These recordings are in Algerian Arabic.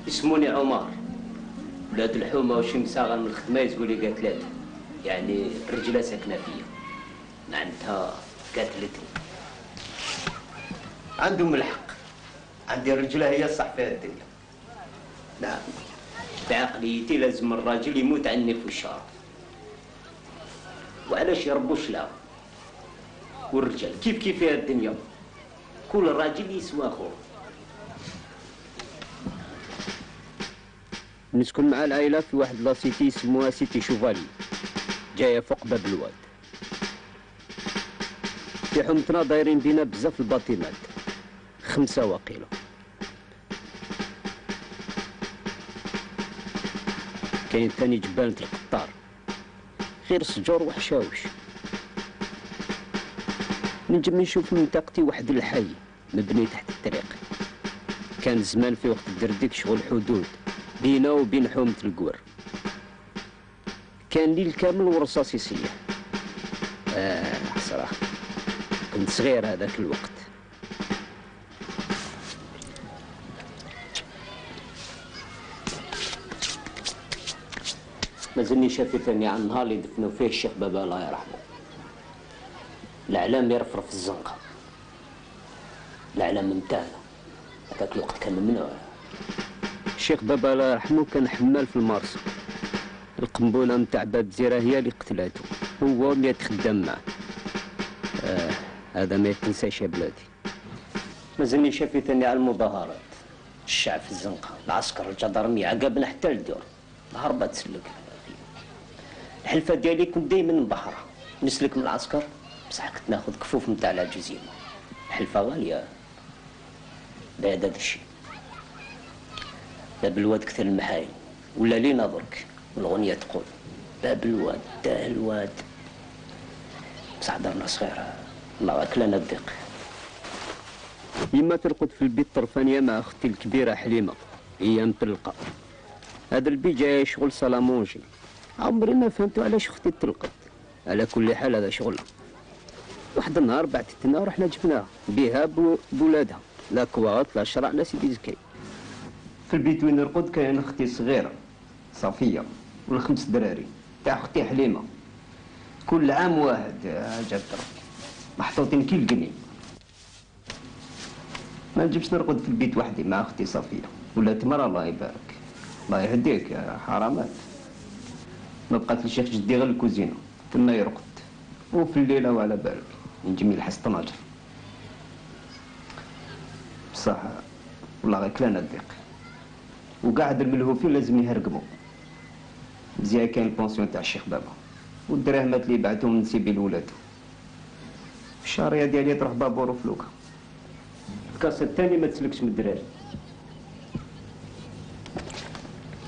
اسموني عمر، ولاد الحومه وشي مساغه من الخدمه يزقوا لي قاتلاتها، يعني الرجله ساكنه فيا، معناتها قاتلتني. عندهم الحق، عندي الرجله هي الصح فيها الدنيا. نعم، بعقليتي لازم الراجل يموت عني في الشارع. وعلاش يربوا الشلاو؟ والرجال كيف فيها الدنيا، كل راجل يسوى اخوه. نسكن مع العائله في واحد لاسيتي يسموها سيتي شوفالي، جايه فوق باب الواد. في حومتنا دايرين بينا بزاف الباطيمات، 5 واقيلا. كاين ثاني جبانة القطار، غير سجور وحشاوش. نجم نشوف من منطقتي واحد الحي مبني تحت الطريق، كان زمان في وقت الدرديك شغل حدود بينا وبين حومة القور. كان ليل كامل ورصاص يصيح. صراحة كنت صغير هذاك الوقت. مازلني شافي ثاني عن النهار اللي دفنوا فيه الشيخ بابا الله يرحمه. الإعلام يرفرف الزنقة، الإعلام نتاعنا هذاك الوقت كان ممنوع. الشيخ بابا الله يرحمه كان حمال في المارسو، القنبلة نتاع باب زيرة هي اللي قتلاتو، هو 100 خدام معاه. هذا ما يتنساش يا بلادي. مازلني شافي ثاني على المظاهرات، الشعب في الزنقة، العسكر، الجدرمية، عقابنا حتى للدور، هربت تسلك. الحلفة ديالي كنت دايما نبحرها، نسلك من العسكر، بصح كنت ناخذ كفوف نتاع العجوزين. الحلفة غالية، لا هذا الشيء. باب الواد كثر المحاين، ولا لينا درك، والغنية تقول باب الواد تاه الواد. بصح درنا صغيرة، الله أكلنا الضيق. يما ترقد في البيت طرفانية مع أختي الكبيرة حليمة، هي مطلقة. هذا البيت جاي شغل سلامونجي، عمري ما فهمت علاش اختي تطلقت. على كل حال هذا شغلها. واحد النهار بعثتنا ورحنا جبناها بها بولادها، لا كواط لا شرع لا سيدي زكي. في البيت وين نرقد كاين اختي صغيره صفيه وال5 دراري تاع اختي حليمه، كل عام واحد جات ربي محطوطين كي القني. ما نجمش نرقد في البيت وحدي مع اختي صفيه، ولات مرة الله يبارك، الله يهديك يا حرامات. ما بقات لشيخ جدي غير الكوزينه تما يرقد، وفي الليله وعلى بالك نجم يلحس طناجر. بصح والله غير كلانا الضيق، وقاعد الملهوفين لازم يهرقموا. مزيان كاين البونسيون تاع الشيخ بابا، والدراهمات اللي بعتهم نسيبي لولادو. الشاريه ديالي تروح بابور وفلوكه. الكاسه الثاني ما تسلكش من الدراري.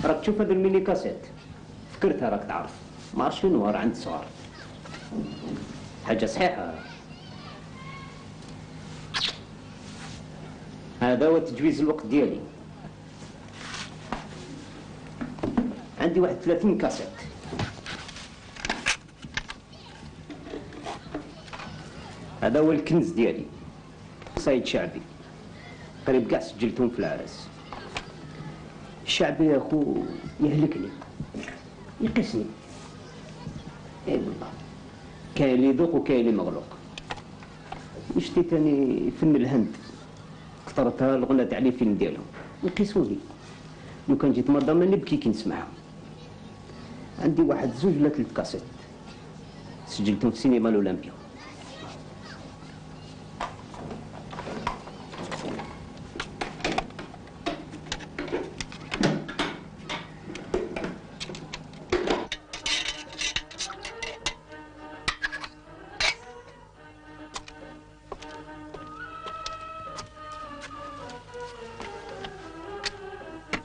راك تشوف هذا الميني كاسيت، فكرتها راك تعرف، ما عرفتش شنو راه عند الصغار. حاجه صحيحه. هذا هو تجويز الوقت ديالي. عندي واحد 30 كاسيت. هذا هو الكنز ديالي، صيد شعبي، قريب كاع سجلتهم في العرس. الشعبي يا اخو يهلكني، يقسني. اي والله، كاين اللي يذوق وكاين اللي مغلوق. وشتي تاني فن الهند، اخترتها الغنى تاع لي فيلم ديالهم، يقيسوني. لو كان جيت مرة ما نبكي كي نسمعها. عندي واحد 2 ولا 3 كاسيت سجلتهم في سينما الأولمبيا.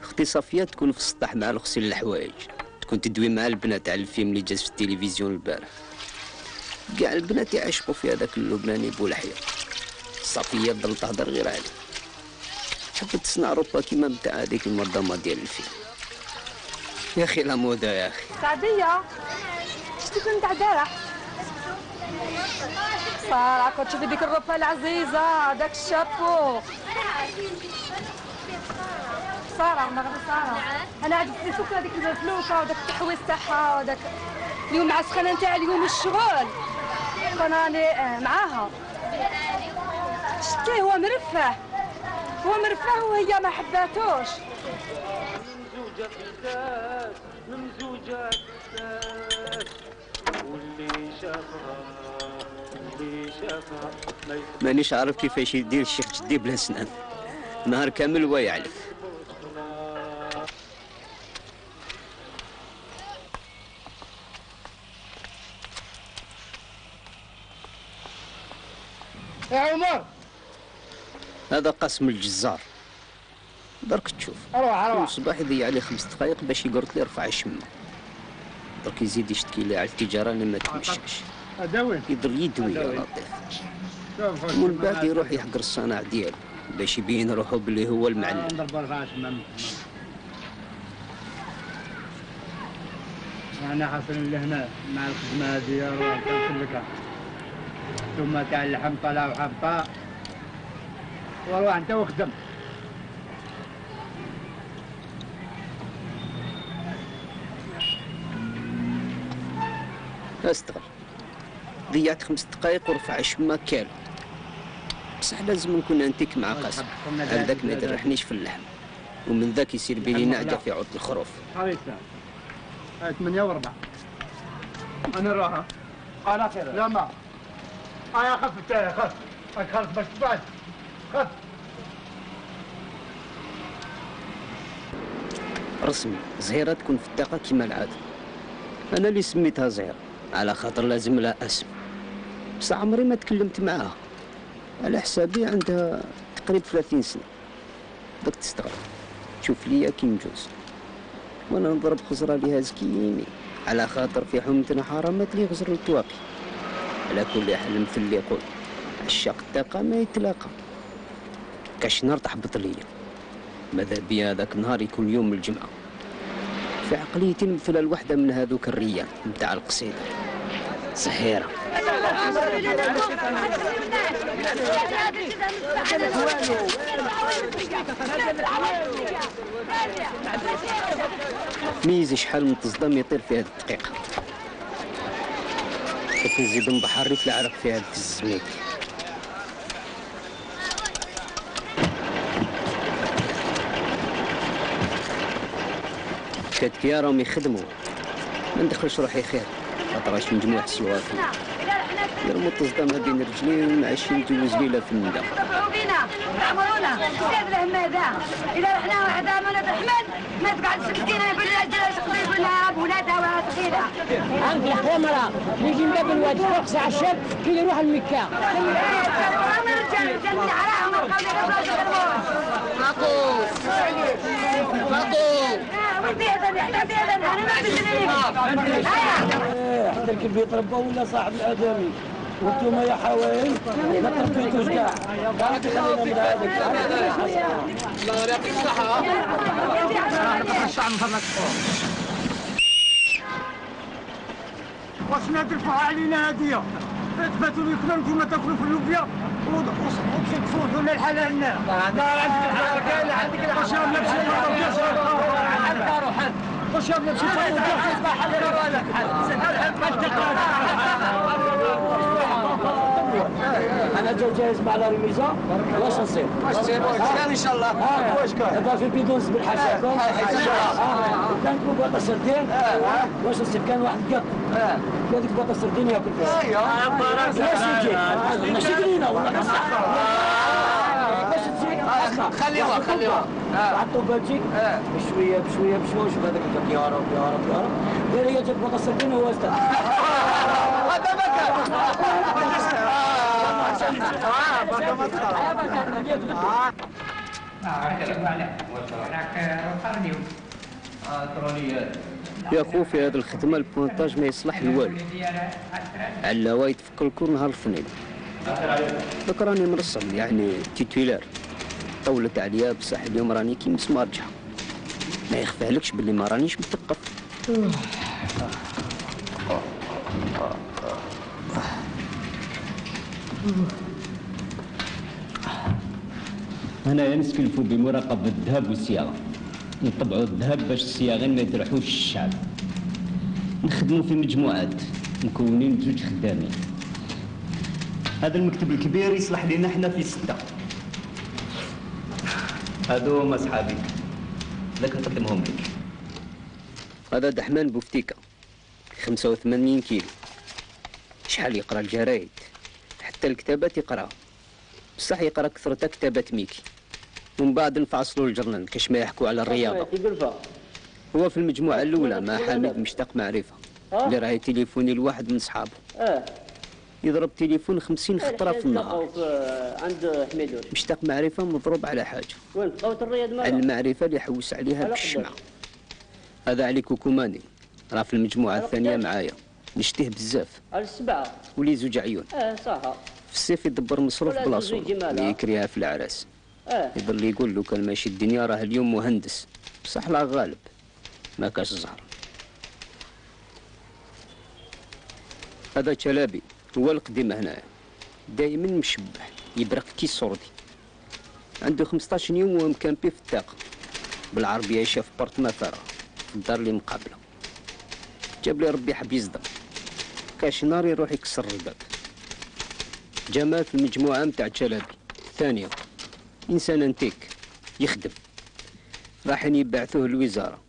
اختي صفية تكون في السطح مع الغسيل الحوايج، تكون تدوي مع البنات على الفيلم اللي جاز في التلفزيون البارح. كاع البنات يعشقوا في هذاك اللبناني بولحية. صفية تضل تهضر غير عليه، حبت تصنع روبا كيما نتاع هذيك المنظمة ديال الفيلم. يا اخي لا موضة يا اخي. سعدية شتي كنت نتاع البارح؟ سارة كنت تشوفي ديك الروبا العزيزة، داك الشابو. سارة ما غير انا عاد سكر هذيك الفلوكه وداك التحويس تاعها وداك اليوم مع السخانه نتاع اليوم الشغل كون راني معاها شتي هو مرفه وهي ما حباتوش. ممزوجة واللي شافها مانيش عارف كيفاش يدير الشيخ جدي بلا سنان، نهار كامل هو يعلف. يا عمر هذا قسم الجزار، درك تشوف كل صباح يضيع عليه 5 دقائق باش يقرط لي رفع الشمه، درك يزيد يشتكي لي على التجاره اللي ما تمشاش، يضر يدوي يا لطيف، ومن بعد يروح يحقر الصناع ديالو باش يبين روحو بلي هو المعلم. انا حاصل لهنا مع الخدمه هذه روح كنسلكها ثم تاع اللحم طلع وحبه وروح انت وخدم. استغل ضيعت 5 دقائق ورفع الشمه كالو، بصح لازم نكون انتيك مع قاسم، هذاك ما يدرحنيش في اللحم، ومن ذاك يصير بيني نعجه في عود الخروف. هاي 8 و4 انا نروح على خير. لا ما انا خف خف باش تبعد خف. رسمي زهيرة تكون في الطاقة كيما العادة، أنا اللي سميتها زهيرة على خاطر لازم لها اسم، بصح عمري ما تكلمت معاها، على حسابي عندها تقريبا 30 سنة، دوك تستغرب تشوف ليا كي نجوز، وانا نضرب خزرة ليها زكيني على خاطر في حومتنا حرامات لي غزر التواقي. على كل حال المثل اللي يقول عشاق الطاقة ما يتلاقى، كاش نار تحبط ليا، ماذا بيا هذاك النهار يكون يوم الجمعة، في عقليتي نمثل الوحدة من هذوك الريان نتاع القصيدة زهيرة. ميزي شحال من تصدم يطير في هذه الدقيقة، نزيد نبحر ريف العرق في هذا الزميك. كاتكيا راهم يخدموا، ما ندخلش روحي خير خاطرش مجموعة السوافي يرموا التصدام ما بين رجلي ومعشي نجوز ليلة في الندى. تفرحوا بينا تعمرونا زاد الهم هذا، إذا رحنا وحدة ما نتحمل ما تقعد مسكينة بالرجال تقضي بالها بولادها وصغيرة. عندي الخمرة يجي من باب الواد فوق ساعة الشاب كي يروح المكة. الرجال نعراهم ونبقاو يضربوا معقول ودي هذا يحتاج هذا أنا ما بدي حتى الكلب يتربى ولا صاحب الآدمي وانتم يا حوايل ما تربيتوش كاع قاعد خلينا من هذاك. الله يعطيك الصحة. واش نادرفوها علينا هادية؟ تباتوا ياكلوا نتوما تاكلوا في اللوبيا وكي تفوتوا لنا الحلال لنا. لا عندك الحلال كاين عندك الحلال. واش راه نمشي واش راه نمشي انا جاهز مع لا رميزه واش نصير؟ واش تصير؟ ان شاء الله. واش كاين؟ دابا في البيدون نسبر حاجه كان بواطه سردين واش نصير؟ كان واحد قط هذيك بواطه سردين ياكل فيها. ايوا واش تجي؟ ماشي قليله والله باش تجي خليوها حطوا باتجيك بشويه شوف هذاك الجاك يا رب يا رب يا رب غير هي جات بواطه سردين وهو استنى. هذا مكان. يا خو في هذه الخدمة البونتاج ما يصلح لوالو، علاوة يتفكر الكل نهار الاثنين. دوك راني مرسم يعني تيتولار، طولت عليا بصح اليوم راني كي مسمارجة، ما يخفالكش باللي ما رانيش مثقف. أنا نستلف بمراقبة الذهب والصياغة، نطبعوا الذهب باش الصياغين ما يجرحوش الشعب. نخدموا في مجموعات مكونين بزوج خدامين. هذا المكتب الكبير يصلح لنا احنا في 6. هادو هما صحابي، لك نقدمهم لك. هذا دحمان بوفتيكا 85 كيلو. شحال يقرا الجرايد، حتى الكتابات يقراها، بصح يقرا كثرتها كتابات ميكي. ومن بعد نفعصلوا الجرنان كاش ما يحكوا على الرياضه. هو في المجموعه الاولى مع حميد مشتاق معرفه اللي راه تليفوني لواحد من صحابه. يضرب تليفون 50 خطره في النهار. عند حميدوش مشتاق معرفه مضروب على حاجه. وين بقاوة الرياض على المعرفه اللي يحوس عليها بالشمعه. هذا علي كوكوماني راه في المجموعه الثانيه معايا، نشتيه بزاف. على 7 ولي زوج عيون. صح. في الصيف يدبر مصروف بلاصو ويكريها في العراس. يظل يقول له كان ماشي الدنيا راه اليوم مهندس، بصح لا غالب ما كاش زهر. هذا شلابي هو القديم هنايا، دايما مشبح يبرق كي الصوردي. عنده 15 يوم وهو مكامبي في الطاقة بالعربية، يعيش في بارتما فارغ في الدار اللي مقابله. جاب لي ربي حب يصدم، كاش نار يروح يكسر الباب. جمال في المجموعة متاع شلابي الثانية، إنسان انتيك يخدم، راحين يبعثوه للوزارة.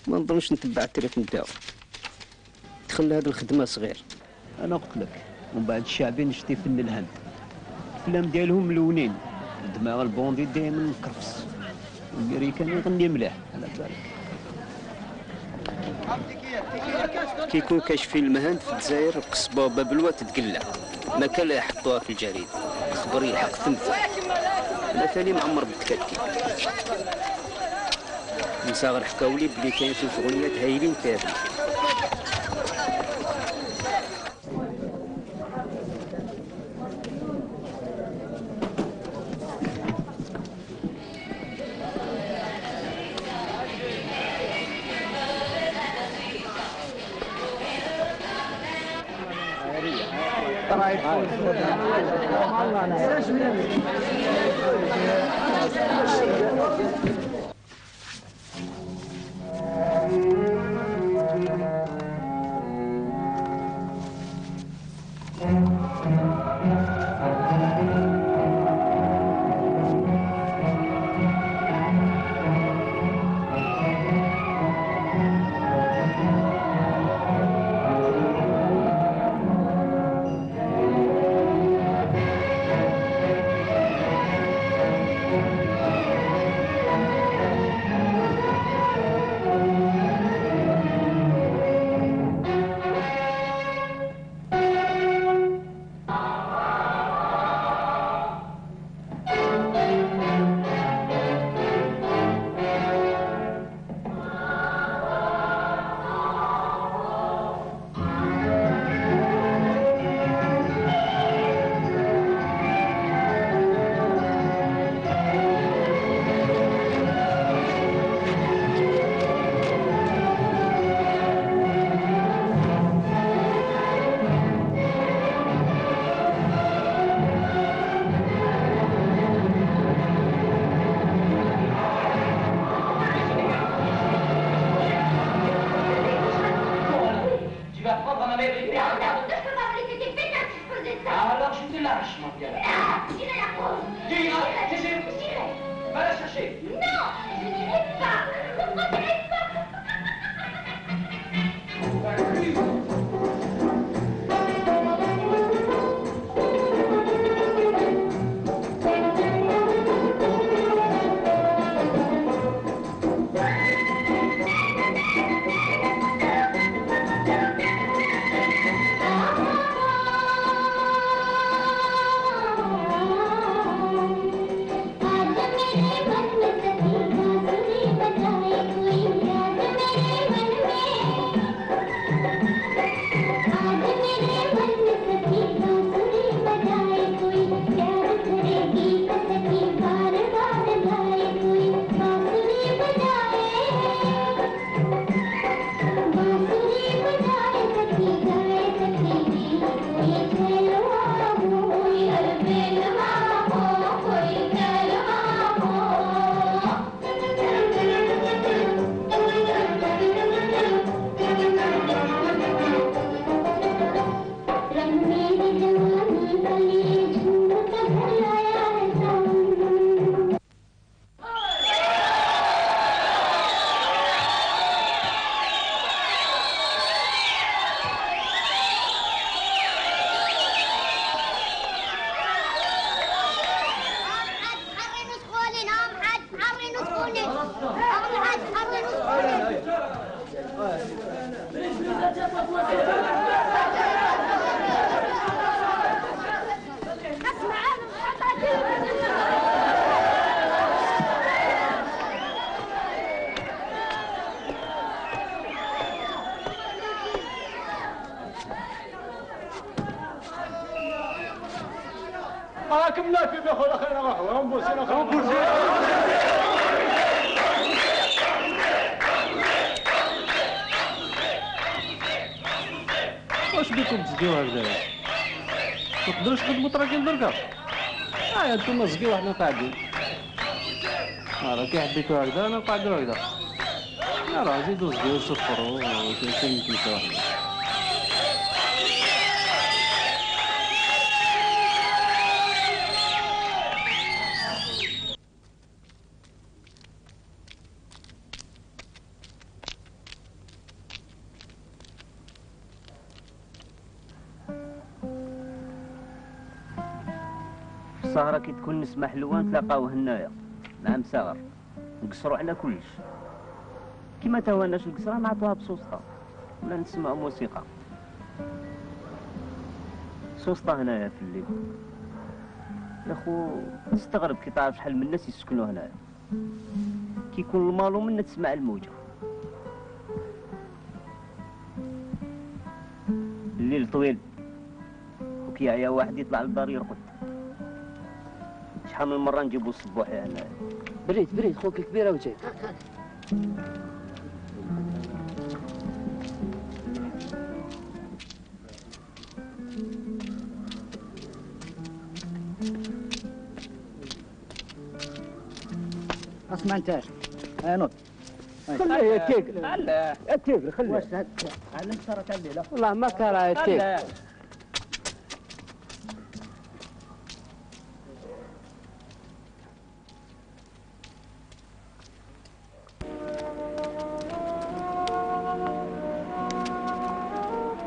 ما نظنش نتبع التاريخ نتاعو. دخل هذه الخدمة صغير. أنا قلت لك ومن بعد الشعبي نشتي فن الهند. الأفلام ديالهم ملونين، الدماغ البوندي دايما مكرفس، والأمريكان يغني مليح على بالك. كيكون كاش فيلم هند في الجزائر القصبة وبابلوة تتقلع، ما كان لا يحطوها في الجريدة، الخبر يلحق ثمث. أنا ثاني معمر بالتكتي. نصاغر حكاولي بلي كاين في شغليات هايلين كافي. راكم لا في اخويا خلينا نروحوا نبوسي واش بيكم تزقيو هكذا؟ ما تقدروش تخدموا تراكين دركا؟ انتوما زقيو وحنا قاعدين. راه كي حبيتو هكذا نقعدو هكذا. راه زيدو زقيو صفروا وكاين كيما واحد. السهرة كي تكون نسمة حلوة نتلاقاو هنايا مع مساغر نقصرو على كلش كيما تهواناش القصرة نعطوها بسوسطة ولا نسمعو موسيقى. سوسطة هنايا في الليل يا خو تستغرب كي تعرف شحال من الناس يسكنوا هنايا. كي يكون المالو منا تسمع الموجة. الليل طويل وكي يعيا واحد يطلع للدار يرقد. شحال من مرة نجيبو الصبوحي هنايا. بريد خوك الكبيرة وجاي. اسمع انت نوض خليه يتيكل. لا يتيكل خليه. واش علمت ترك الليله والله ما كره يتيكل.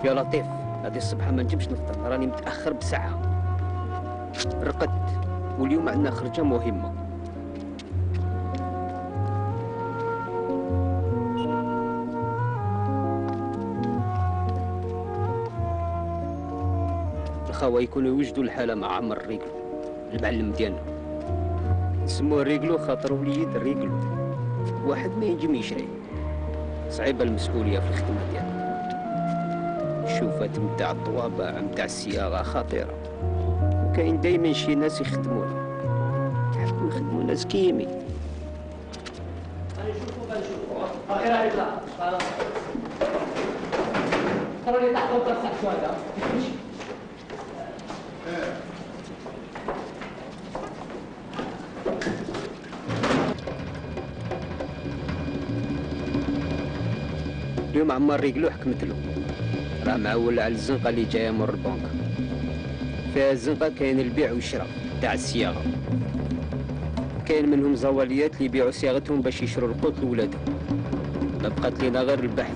يا لطيف هذه الصبحة ما نجمش نفطر راني متأخر بساعة. رقدت واليوم عندنا خرجة مهمة. الخاوة يكونوا يوجدوا الحالة مع عمر ريقلو المعلم ديالنا. نسموه ريقلو خاطر وليد ريقلو واحد ما ينجم يشري. صعيبة المسؤولية في الخدمة ديالنا. الشوفات متاع الطوابع متاع الصياغة خطيرة وكاين دايما شي ناس يخدمونا يحبوا يخدموا ناس كيمي. اخيرا يطلع خلاص خلوني تحت وترفع شويه. اليوم عمار ريقلو حكمت له راه معول على الزنقة اللي جاية من البنك. فيها الزنقة كاين البيع والشراء تاع الصياغة. كاين منهم زواليات اللي يبيعوا صياغتهم باش يشروا القوت لولادهم. ما بقات لينا غير البحث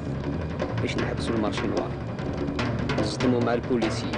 باش نحبسوا المارشي نوار نصدموا مع البوليسيين.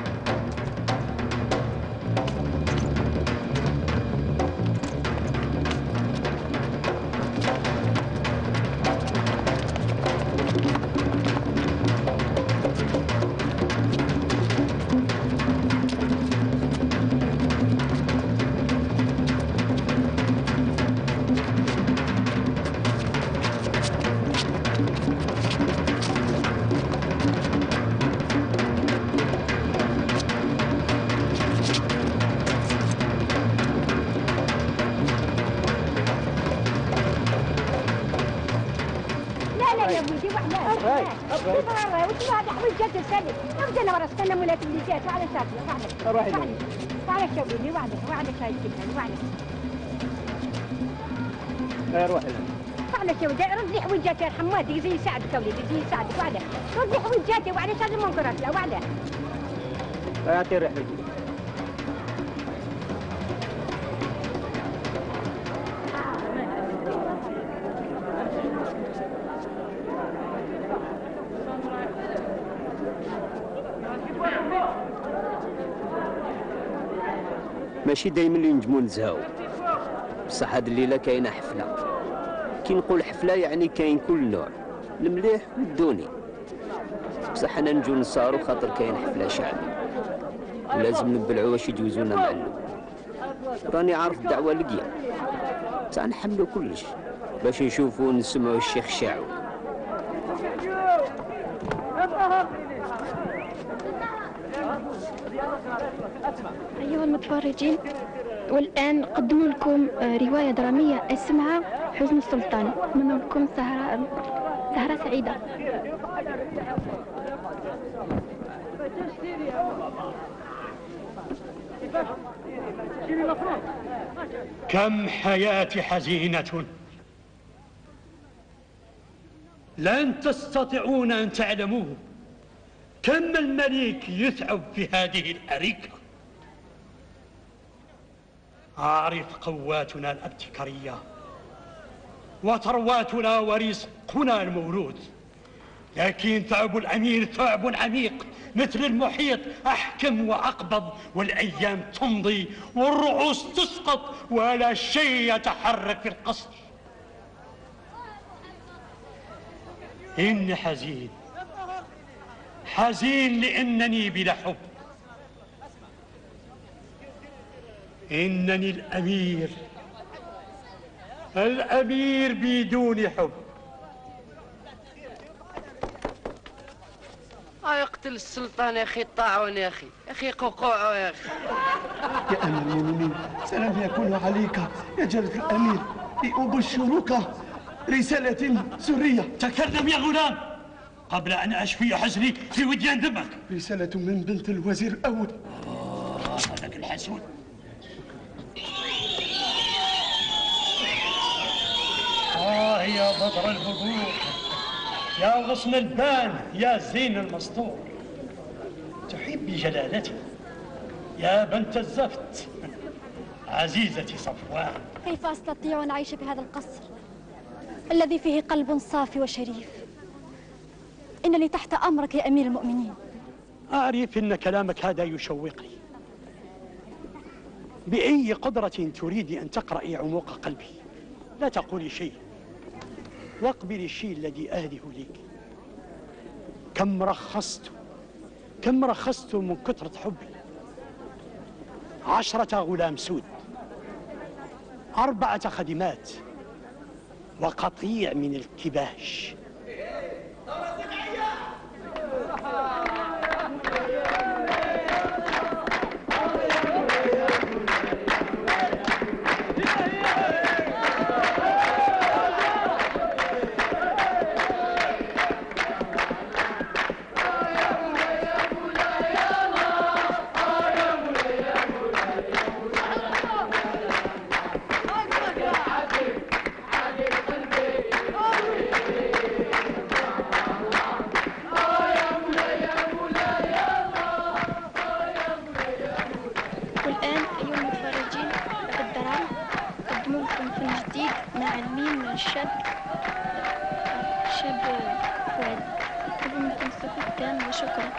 استنى مولات اللي جات وعلى شاطئ وعلى وعلى شوقني وعلى شاي كذا وعلى روحي وعلى شو رد لي حويجاتي يا حماد يجي يساعدك وليدي يجي يساعدك وعلى رد لي حويجاتي وعلى شاد المنكرات لا وعلى يعطي رحلتي. ماشي دايما اللي نجمو نزهاو بصح هاد الليله كاينه حفله. كي نقول حفله يعني كاين كل نوع. المليح ودوني، بصح انا نجو نصارو خاطر كاين حفله شعبي ولازم نبلعو واش يجوزونا معلم. راني عارف الدعوه لقيا تاع نحملو كلش باش نشوفو ونسمعو الشيخ شاعو. أيها المتفرجين، والآن نقدم لكم رواية درامية اسمها حزن السلطان. نتمنى لكم سهرة سعيدة. كم حياتي حزينة، لن تستطيعون أن تعلموه. كم الملك يتعب في هذه الأريكة. أعرف قواتنا الابتكارية وثرواتنا ورزقنا المولود، لكن تعب الأمير ثعب عميق مثل المحيط، أحكم وأقبض، والأيام تمضي والرؤوس تسقط ولا شيء يتحرك في القصر. إني حزين، حزين لأنني بلا حب. إنني الأمير بدون حب. يقتل السلطان يا أخي الطاعون، يا أخي قوقوعه يا أخي. يا أمير المؤمنين، سلام يكون عليك يا جلالة الأمير. أبشرك رسالة سرية. تكلم يا غلام قبل أن أشفي حزني في وديان دمك. رسالة من بنت الوزير الأول. هذاك الحسود. يا بدر البدور، يا غصن البان، يا زين المسطور، تحبي جلالتي يا بنت الزفت، عزيزتي صفوان. كيف أستطيع أن أعيش في هذا القصر الذي فيه قلب صافي وشريف؟ إنني تحت أمرك يا أمير المؤمنين. أعرف أن كلامك هذا يشوقني. بأي قدرة تريدي أن تقرأي عمق قلبي؟ لا تقولي شيء واقبلي الشيء الذي أهده لك. كم رخصت من كثرة حبي. 10 غلام سود، 4 خادمات، وقطيع من الكباش. شاب فؤاد. أطلب منكم الصف التام وشكرا.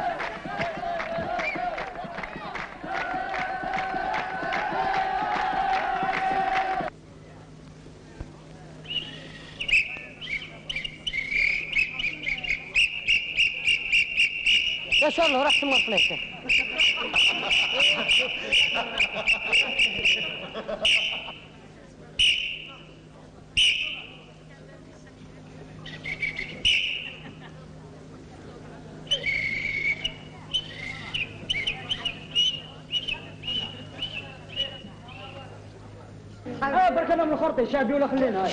يا شاء الله راح تمر فليته. بركنا من الخرطي شعبي ولا خلينا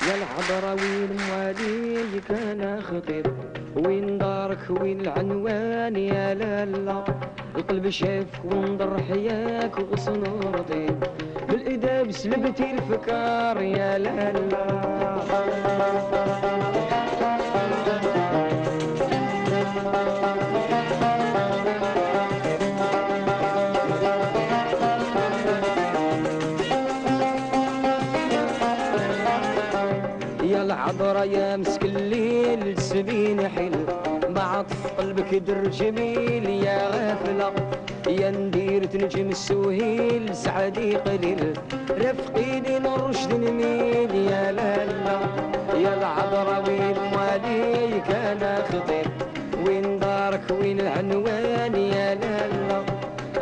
يا الحضراوي الموالي كان خطيب، وين دارك وين العنوان يا لالا، القلب شافك ونضر حياك وغصن رضيت بالإداب سلبتي الفكار يا لالا. العذرة يا مسك الليل سبين حل بعطف قلبك در جميل يا غافلة يا ندير تنجم السهيل سعدي قليل رفقي دين الرشد نميل يا لالا. يا العذرة وين مواليك انا خطير وين دارك وين العنوان يا لالا.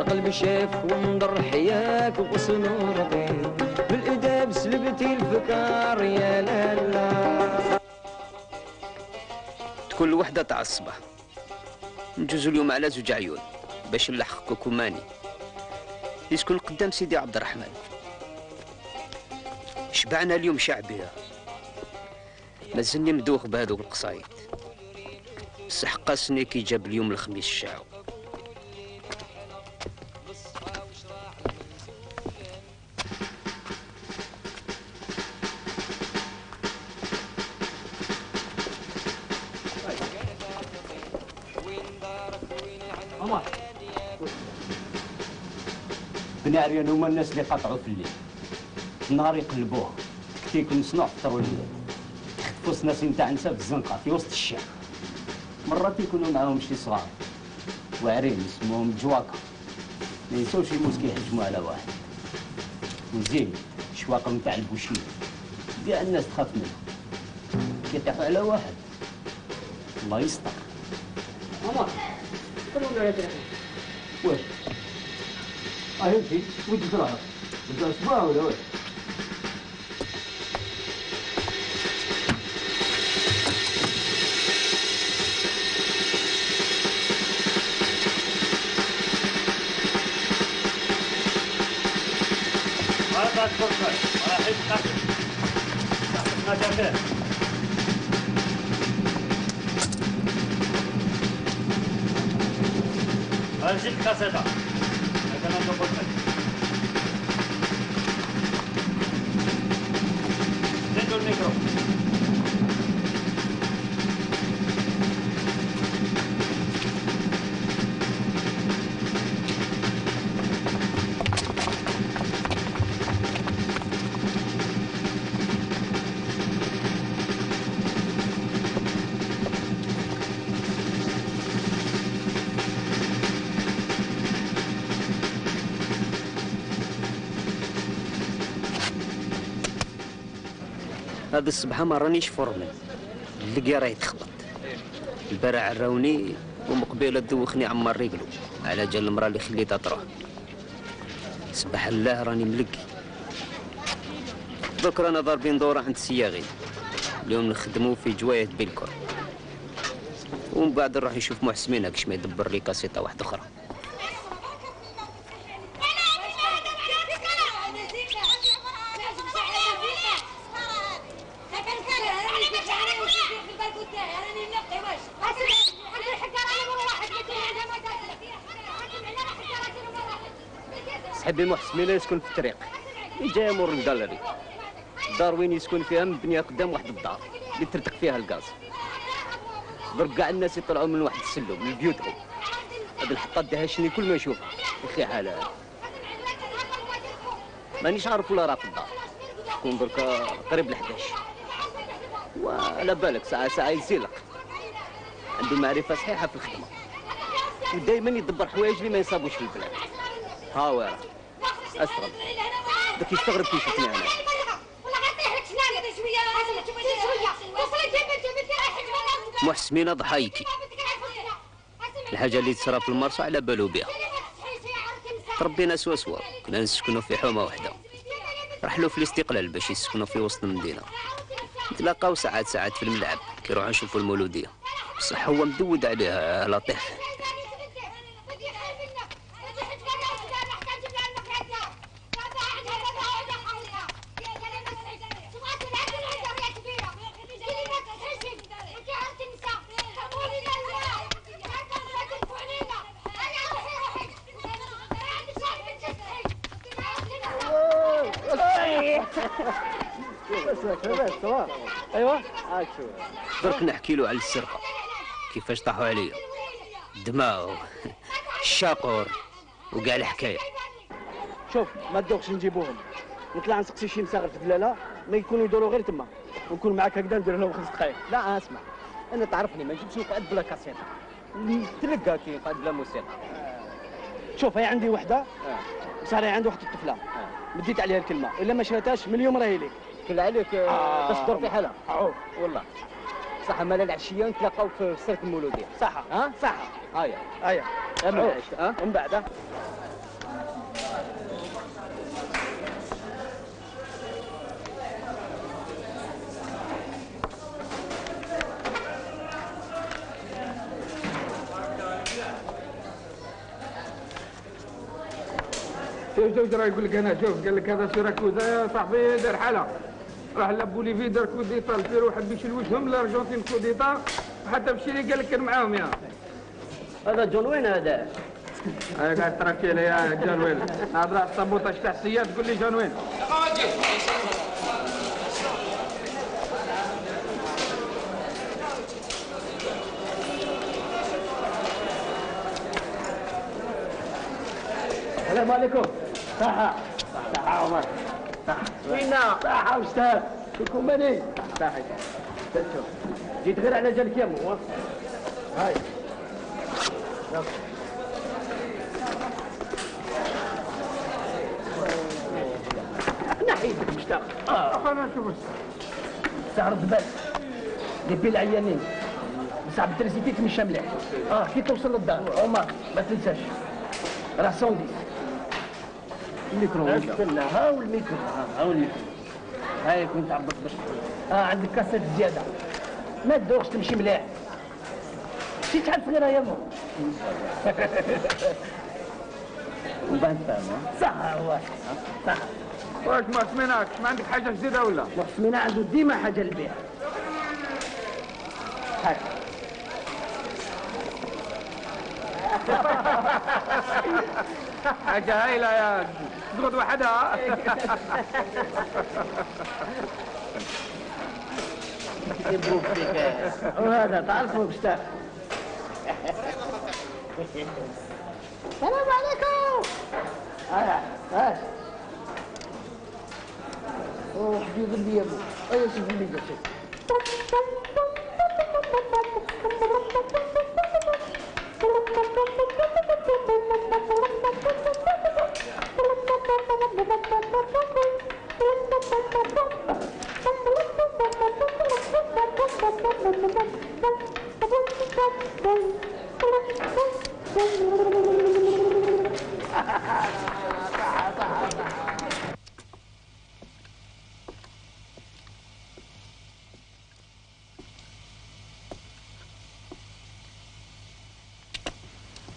قلب شاف ونضر حياك وغصن رضيت بالإداب سلبتي الفكار يا لالا. كل وحدة تاع الصباح نجوزو اليوم على زوج عيون باش نلحق كوكوماني يسكن قدام سيدي عبد الرحمن. شبعنا اليوم شعبية مازلني مدوخ بهذوك القصايد بصح قاسني كي جاب اليوم الخميس الشاعو. بناريان هما الناس اللي قطعوا في الليل النهار يقلبوها تكتيك المصنوع فطروا الليل يخطفوا سناسين تاع نساء في الزنقه في وسط الشارع. مرات يكونوا معاهم شي صغار واعرين اسمهم جواكا ما ينساوش يموت كيهجموا على واحد وزين شواقم تاع البوشيه كاع الناس تخاف منهم كيطيحوا على واحد الله يستر. عمر قولوا لي واش هاي ودي تراها انت اسبوع ولا واش؟ هذا الكرسي راح يتقفل ما جابه هذه الكاسيته أنا نقول لك زيدوا الميكرو. هذا الصباح ما رانيش فورمال اللقيا راه يتخبط. البارح عراوني ومقبيله دوخني عمار رجلو على جال المراه اللي خليتها تروح. سبح الله راني ملقي. دوك رانا ضاربين دوره عند السياغي اليوم نخدمو في جوايه بيلكور ومن بعد نروح نشوف محسمين هاكش ما يدبر لي كاسيطه واحده اخرى. صاحبي محسمين يسكن في الطريق اللي جاي مور الجاليري. الدار وين يسكن فيها مبنيه قدام واحد الدار اللي ترتق فيها الغاز. درك كاع الناس يطلعوا من واحد السلم من بيوتهم. هاد الحطه دهشني كل ما يشوفها يا اخي حالها مانيش عارف ولا راه في الدار. تكون درك قريب ل11 وعلى بالك ساعه يزيلق. عنده معرفه صحيحه في الخدمه ودائما يدبر حوايج اللي ما يصابوش في البلاد. ها واه استغرب داك يستغرب كي يشوفني انا. محسمين ضحايكي الحاجه اللي تصرا في المرصع على بالو بها. تربينا سوا كنا نسكنوا في حومه واحده. رحلوا في الاستقلال باش يسكنوا في وسط المدينه. نتلاقاو ساعات في الملعب كي نروحوا نشوفوا المولوديه. بصح هو مدود عليها لطيف. ايوا درك نحكي له على السرقه كيفاش طاحوا عليا الدماغ الشاقور وكاع الحكايه. شوف ما تدوقش نجيبوهم، نطلع نسقسي شي مساغر في الدلاله ما يكونوا يدوروا غير تما، ونكون معاك هكذا ندير لهم 5 دقائق. لا اسمع، انا تعرفني ما نجيبش قاعد بلا كاسيطه، تلقى كي قاعد بلا موسيقى. شوف هي عندي وحده صار عندي واحد الطفله مديت عليها الكلمه، الا ما شريتهاش من اليوم راهي ليك. كل عليك باش تدور في حالها. والله صح، مالا العشيه نتلاقاو في السيرك المولوديه. صح ها صح. هيا هيا من بعد شوف راه يقول لك انا شوف قال لك هذا سيراكوزا يا صاحبي دار حاله راح لبوليفي دار كوديتا البيرو حب يشلوشهم الارجنتين كوديتا حتى بشيري قال لك كان معاهم يا هذا جون وين هذا؟ انا قاعد تركي لي يا جون وين هذا راح صبوطه تاع السياد تقول لي جون وين السلام عليكم. صحة عمر. وينا؟ صحة أستاذ. كلكم ماني؟ صحة. جيت غير على جالك يا مو. هاي. نحيدك مشتاق. انا نشوف سعر الدبال. ديبي العيانين. صعب التريزيتي تمشى مليح. كي توصل للدار عمر ما تنساش. راه 110. الميكرو هاو الميكرو هاو الميكرو هاي كنت عبط باش عندك كاسات زياده ما تدوخش تمشي مليح شي تعرف غير يا مو وبان فاهم صح هو صح واش ما سميناكش ما عندك حاجه جديده ولا؟ سمينا عنده ديما حاجه للبيع هاك حاجه هايله يا تقعد وحدها وهذا تعرفوا بستاخ السلام عليكم هاش حبيب لي يا ابو ايوا شوف لي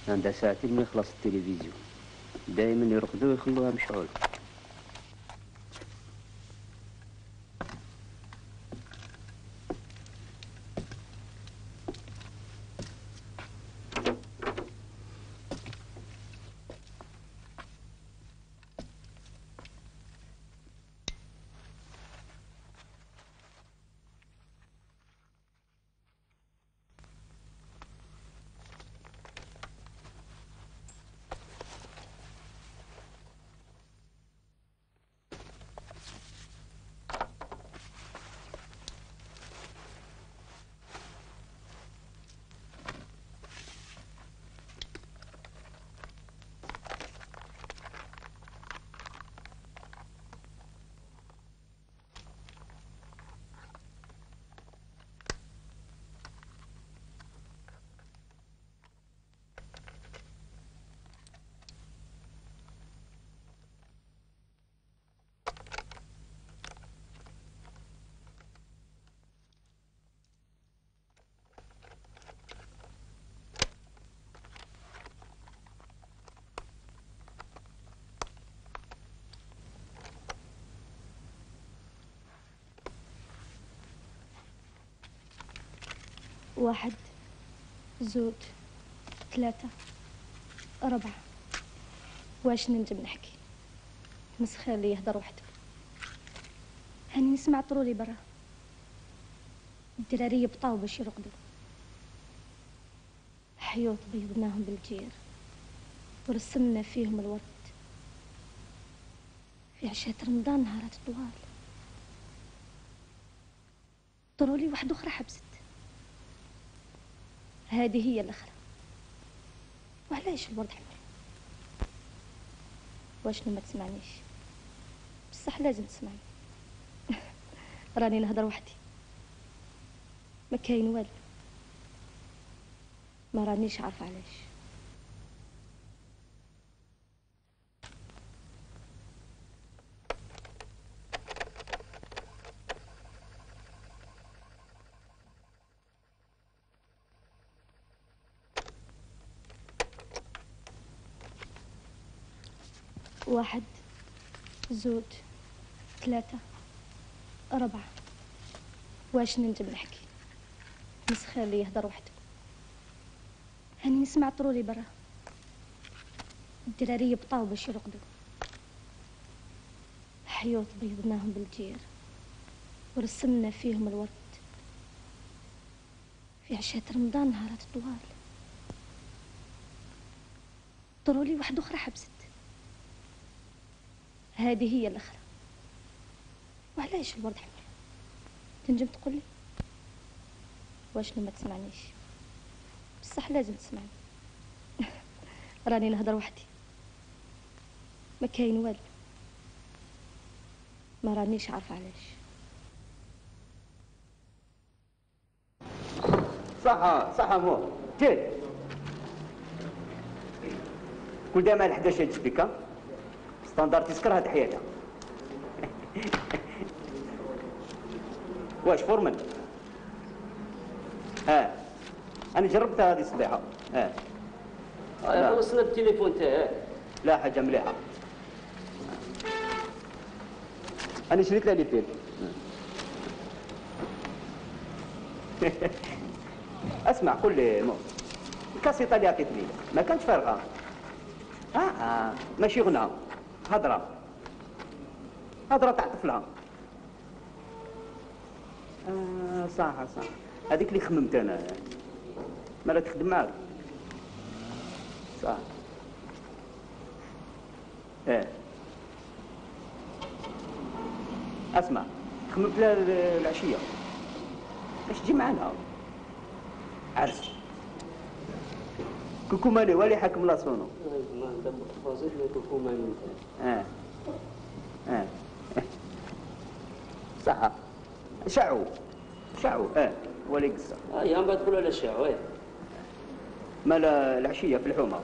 عندها ساعتين ما يخلص التلفزيون دائما يرقدوا ويخلوها مشعول. واحد زوج ثلاثة أربعة واش ننجم نحكي مسخر لي يهضر وحده هاني نسمع طرولي برا، الدرارية بطاو باش يرقدوا، حيوط بيضناهم بالجير ورسمنا فيهم الورد في عشاء رمضان نهارات طوال. طرولي واحدة أخرى حبست، هذه هي الأخرى. وعلاش الورد حمر؟ واشنو ما تسمعنيش؟ بصح لازم تسمعني. راني نهضر وحدي، ما كاين والو، ما رانيش عارفه علاش. واحد، زوج، ثلاثة، أربعة. واش ننجم نحكي؟ نسخر اللي يهضر وحده. هاني نسمع طرولي برا، الدرارية بطاو باش يرقدوا، حيوط بيضناهم بالجير ورسمنا فيهم الورد في عشاء رمضان نهارات طوال. طرولي واحدة أخرى حبست، هذه هي الأخرى. وعلاش الورد حمر؟ تنجم تقولي؟ واشنو ما تسمعنيش؟ بصح لازم تسمعني. راني نهضر وحدي، ما كاين والو، ما رانيش عارفه علاش. صح مو جيد كل دائما 11 تجبيكا ستاندر تسكر هاد حياتها. واش فورمن؟ انا جربتها هذه الصبيحه. خلصنا بالتليفون تاعك. لا حاجه مليحه. انا شريت لها لي فيلم. اسمع قول لي مو الكاسيطه اللي عطيتني ما كانتش فارغه. ماشي غنى، هضره تاع طفلها. صح هذيك اللي خممت انا، مالا تخدم معاك. صح. اسمع خممت لها العشيه باش تجي معنا عرس. كوكو مالي والي حاكم لا صونو. ما ندبر تفاصيل كوكو مالي. صح. شعو ولي قصه. يا ما تقولوا لا شعو. مال العشيه في الحومه.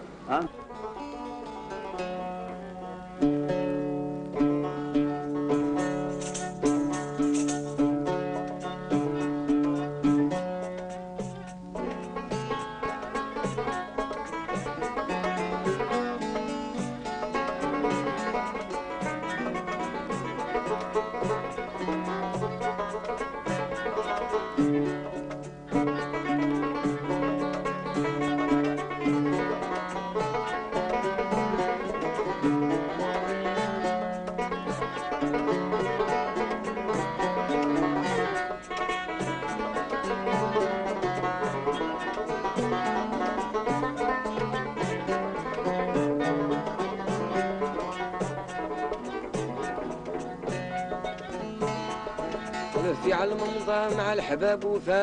في علم مضى مع الحباب وفات،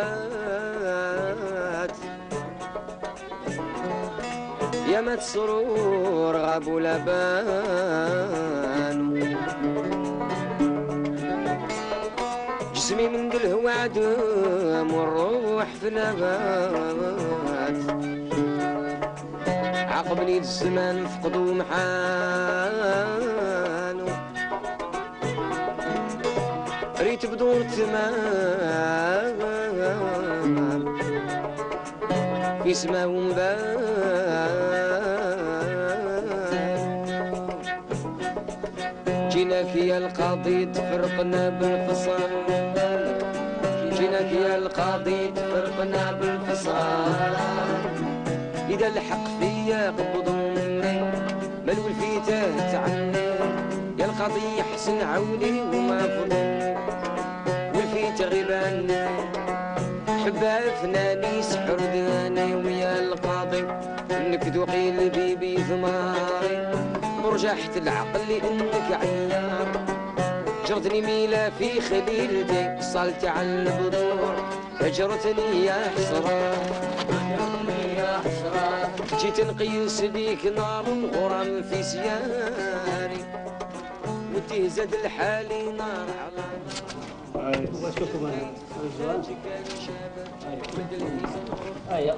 يا مات سرور غاب ولا بان، جسمي من الهوى عدم والروح في نبات، عقبني الزمان فقدوا محانو، ريت بدور تمام في سما ومبان، جيناك يا القاضي تفرقنا بالفصال، جيناك يا القاضي تفرقنا بالفصال، إذا الحق فيا قبضوا مني ملو الفتاة عني، يا القاضي يحسن عوني وما فضل البنا حبها فناني سحر ذاني ويا القاضي انك ذوقي البيبي ثماري ورجحت العقل لانك عيار جرتني ميلة في خليلتي صلت على البذور هجرتني يا حسرات يا حسرات جيت نقيس بيك نار غرام في سياري وتهزد الحالي نار على شوفوا هيا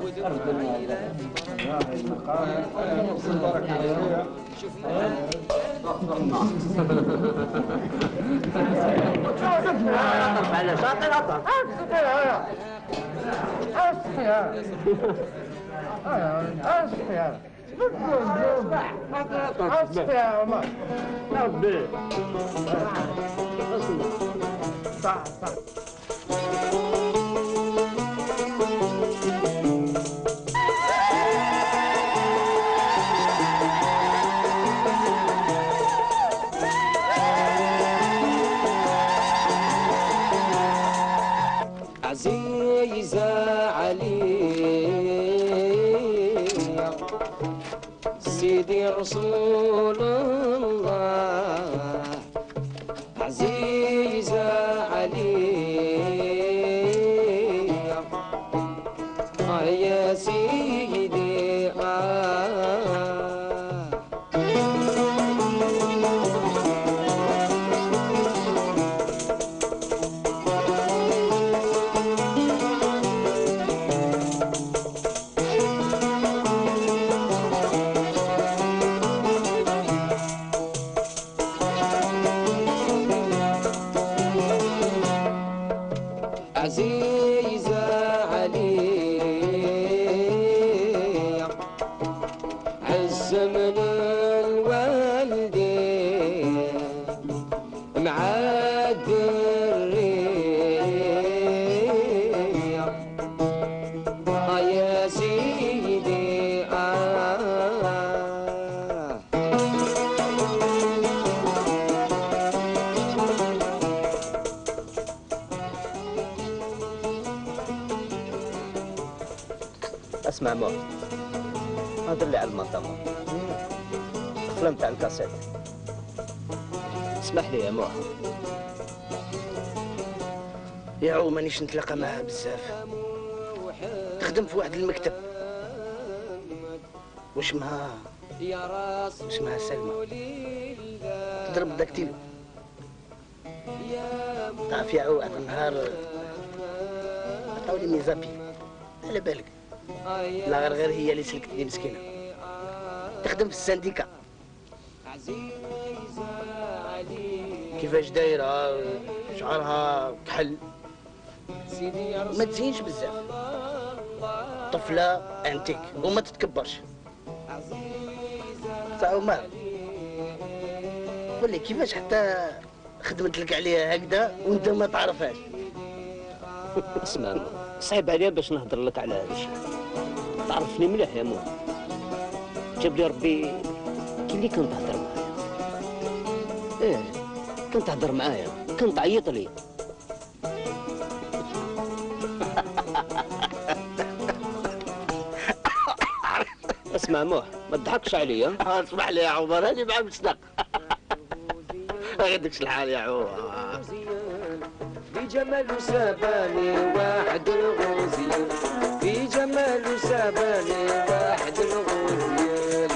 على شاطئ الأطر صح صح عزيزة علي سيدي رسول الله عزيزة علي يا سيدي عزيزة علي عز من الوالدين معاد الريح يا سيدي اسمع موت هذا اللي على المطمة الفيلم تاع الكاسيت اسمح لي يا موح يا عو مانيش نتلاقى معها بزاف تخدم في واحد المكتب واسمها سلمى تضرب داكتيلو تعرف يا عو واحد النهار عطاولي ميزابي على بالك لا غير هي اللي سلكتني مسكينه تخدم في السانديكا كيفاش دايره شعرها كحل ما تزينش بزاف طفله انتيك وما تتكبرش صعب ما قول لي كيفاش حتى خدمت لك عليها هكذا وانت ما تعرفهاش اسمع صعيب عليا باش نهضر لك على هذا الشيء تعرفني مليح يا مو جاب لي ربي كي اللي كنت تهضر معايا كنت تهضر معايا كنت تعيط لي اسمع موح ما تضحكش عليا اسمح لي يا عمر هاني معاك مصدق غيردكش الحال يا عمر في جمال ساباني واحد الغوزيل في جمال ساباني واحد الغوزيل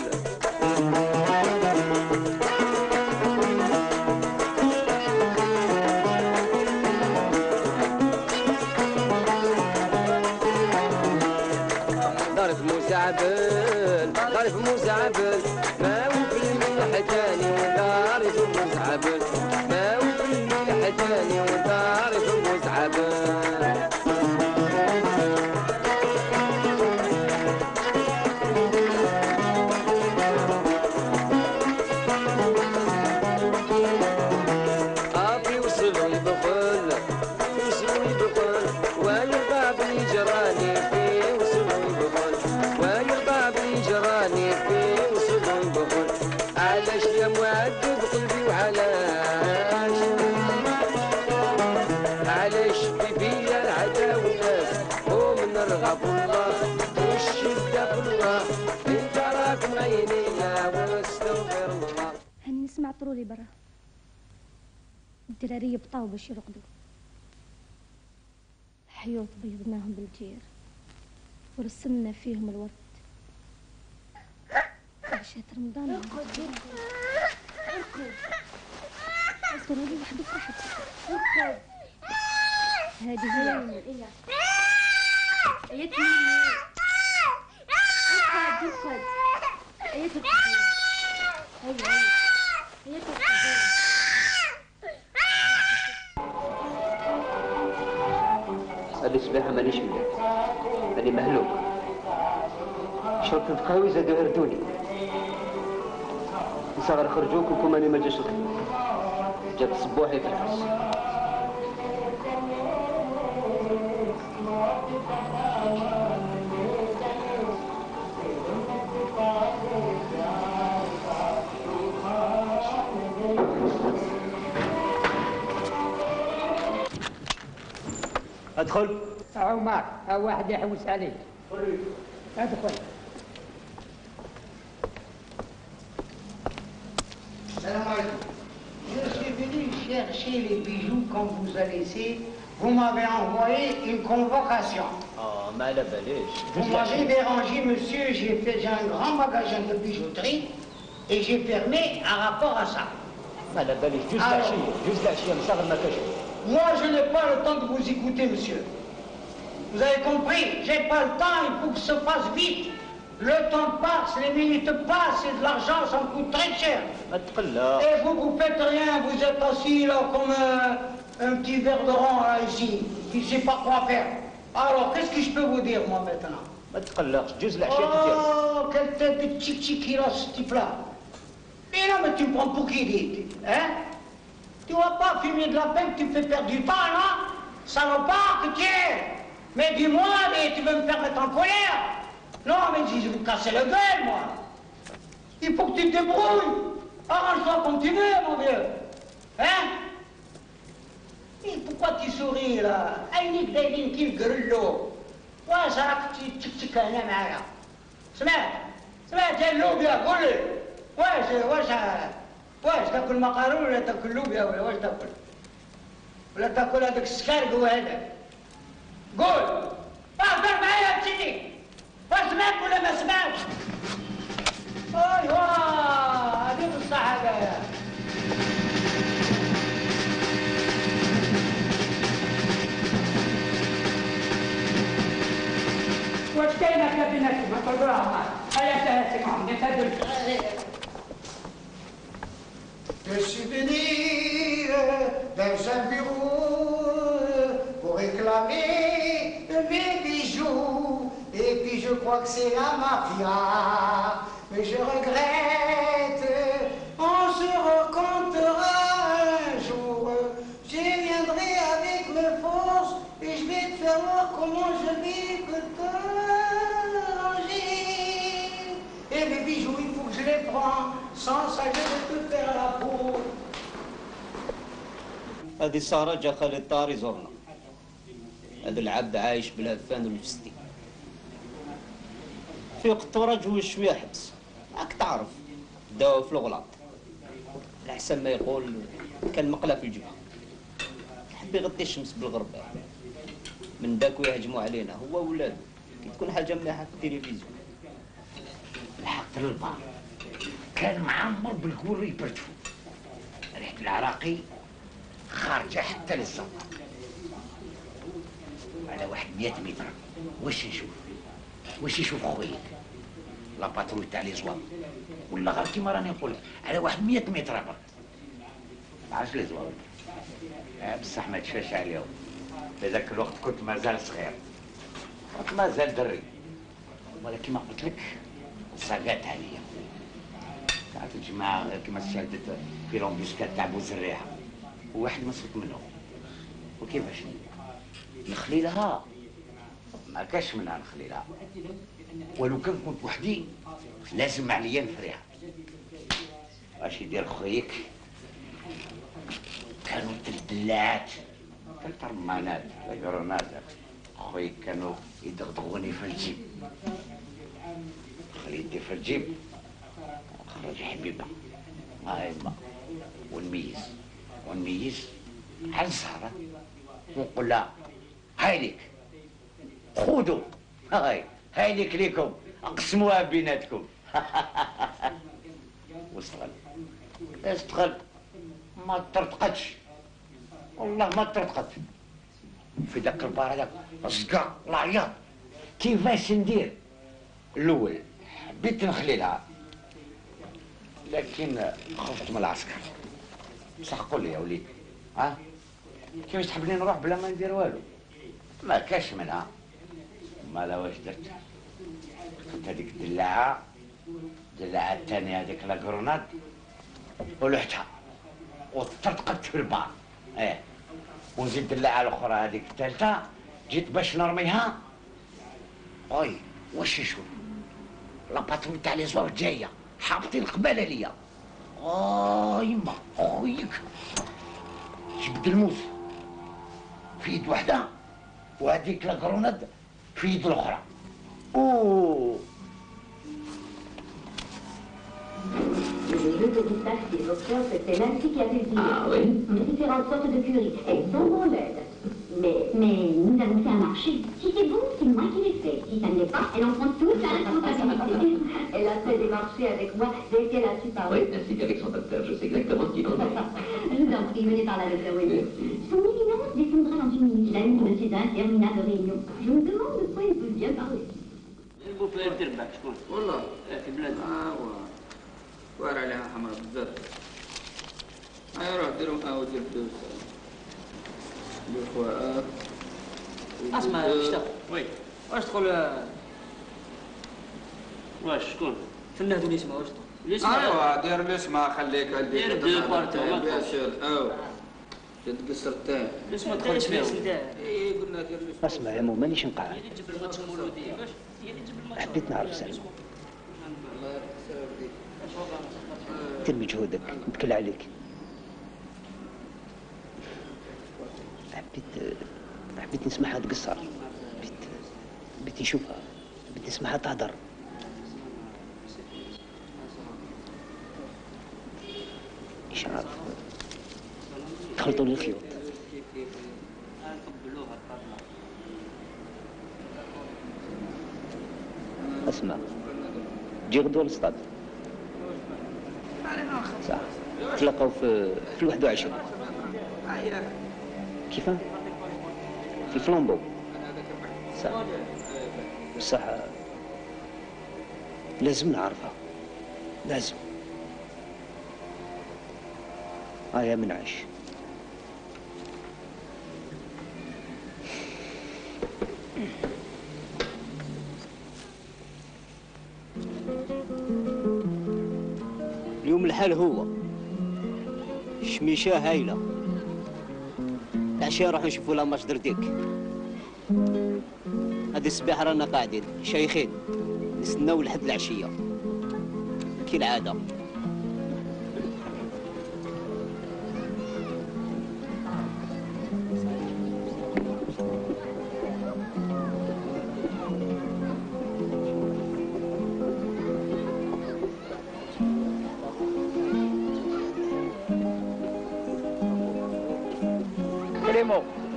ظرف مسعبل ظرف مسعبل ما هو في الملح تاني وظرف مسعبل ما هو في الملح تاني وظرف مسعبل أبي وصلوا يبخل وصلوا يبخل ويرضى بالجراني فيه وصلوا يبخل ويرضى بالجراني فيه وصلوا يبخل علاش يا مؤدب قلبي وعلاش علاش في عطروا لي برا. الدراري بطاو باش يرقدوا، الحيوط بيضناهم بالجير ورسمنا فيهم الورد. عشات رمضان اركض هذه وحدة فرحت. اركض هذه هي ايات مني. اركض ايات هذه الصباحة مانيش مليح، راني مهلوك. شرط القهوي زادوا هردوني. نصغر خرجوك وكم راني ما جاش الخدمة. جات صبوحي في الحبس. ادخل. هاو معك، هاو واحد يحوس عليك. ادخل. Salam alaikum. Je suis venu chercher les bijoux qu'on vous a laissés. Vous m'avez envoyé une convocation. ما على باليش. Vous m'avez dérangé, monsieur. J'ai un grand magasin de bijouterie et j'ai fermé un rapport à ça. ما على باليش. جوز العشية مصغر ما كاش. Moi, je n'ai pas le temps de vous écouter, monsieur. Vous avez compris? J'ai pas le temps, il faut que ça passe vite. Le temps passe, les minutes passent et de l'argent, ça me coûte très cher. Et vous faites rien, vous êtes assis là comme un petit verre de rang là ici, qui ne sait pas quoi faire. Alors, qu'est-ce que je peux vous dire, moi, maintenant? Oh, quelle tête de tchik-tchiki là, ce type-là. Mais non, mais tu me prends pour qui, dit? Hein? Tu vas pas fumer de la peine, tu me fais perdre du temps, non? Salopard que tu es. Mais dis-moi, mais tu veux me faire mettre en colère? Non, mais je vais vous casser la gueule, moi. Il faut que tu te débrouilles. Arrange-toi comme tu veux, mon vieux. Hein? Et pourquoi tu souris, là? عينيك دايرين كيف قرلو. واش راك تشكشك هنا معايا؟ سمعت يا اللوبيا قول لي. واش تاكل مقارون ولا تاكل لوبيا ولا واش تاكل؟ ولا تاكل هذاك السكارق وهذاك؟ قول. اهدر معايا بسيدي. سمعت ولا ما سمعتش؟ ايوا هذه بصح هذايا. واش كاينه بيناتكم؟ ما تقولوها معاك. هيا انتهت معهم نتهدل. Je suis venu dans un bureau pour réclamer mes bijoux. Et puis je crois que c'est la mafia. Mais je regrette, on se rencontrera un jour. Je viendrai avec mes forces et je vais te faire voir comment je vais que t'arranger. Et mes bijoux, il faut que je les prends. Sans ça, je vais te faire la peau. هذه سارة جا خالد طاري زورنا. هذا العبد عايش بالهفان والفستي. في وقت ورجه شوية حبس. راك تعرف داو في الغلاط. الأحسن ما يقول كان مقلة في الجبهة. حب يغطي الشمس بالغربة. من داك يهجموا علينا هو وولادو. كي تكون حاجة مليحة في التلفزيون. الحق للبار. كان معمر بالقول يبرتفو. ريحة العراقي خارجة حتى للزنقة. على واحد 100 متر واش نشوف؟ واش يشوف خويك؟ لا باتروي تاع لي زواب ولا غير كيما راني نقول على واحد 100 متر برك. عرفت لي زواب؟ بصح ما تشفاش عليهم. في ذاك الوقت كنت مازال صغير. كنت مازال دري. ولكن ما قلت لك صاقات عليا. تعرف الجماعة غير كيما شادت في لومبيسكات تاع بوزريحة وواحد مسكت منهم. وكيفاش نخلي لها؟ ما كاش منها نخلي لها. ولو كان كنت وحدي لازم عليا نفريها. واش يدير خويك؟ كانوا تلدلات تلترمانات تلقرونات. خويك كانوا يدغدغوني في الجيب. خلي يدي في الجيب نخرج حبيبه هاي ما ونميز على الزهره ونقول لها هاي ليك خذوا هاي ليك ليكم اقسموها بيناتكم. واستغل ما ترتقدش والله ما ترتقد في ذاك البار هذاك الصقع العياط. كيفاش ندير؟ الاول حبيت نخلي لها لكن خفت من العسكر. بصح قول لي يا وليدي كيفاش تحبني نروح بلا ما ندير والو؟ ما كاش منها. مالا واش درت؟ كنت هذيك الدلاعه الثانيه هذيك لا كروناد ولحتها وترتقدت في البار. ونزيد الدلاعه الاخرى هذيك الثالثه جيت باش نرميها. واش نشوف لاباترون تاع لي زواج جايه حابطين قباله ليا. يما خويك جبد الموس في يد وحده وهذيك لا كروناد في يد الاخرى. Les jeux de pistache des docteurs, c'est Nancy qui a fait le dire. Ah oui? Différentes sortes de curry. Elles sont bon laides. Mais nous avons fait un marché. Si c'est bon, c'est moi qui l'ai fait. Si ça ne l'est pas, elle en prend toute la responsabilité. Elle a fait des marchés avec moi dès qu'elle a su parler. Oui, ainsi qu'avec son docteur. Je sais exactement ce qu'il en est. Je vous en prie, venez par là, docteur William. Son éminence descendra dans une minute. L'ami de ces interminables réunions. Je me demande de quoi il peut bien parler. البوفيه تربح شكون؟ والله في بلاد واعر عليها حمراء بزاف. روح ديرهم قهوة ديال الفلوس الاخوات. اسمع شتا وي واش تقول واش شكون؟ فنادو اللي يسمع واش تقول؟ ايوا دير اللي يسمع خليك دير دو بارتو بيان سور. جد قصر تاعي باش ما تدخلش فيهم. قلنا دير اللي اسمع يا مو مانيش نقعد. حبيت نعرف سلمى. ترمي جهودك نتكل عليك. حبيت نسمعها تقصر. حبيت نشوفها. حبيت نسمعها تهدر. مش عارف تخلطوا لي الخيوط. اسمع جي غدوة للصطاد. صح تلاقاو في 21 كيفاه؟ في فلامبو. صح بصح لازم نعرفها لازم. يا منعش اليوم الحال هو شميشة هايلة. العشية نروحو نشوفو لا ماتش درديك. هادي الصباح رانا قاعدين شايخين نستناو لحد العشية كالعادة.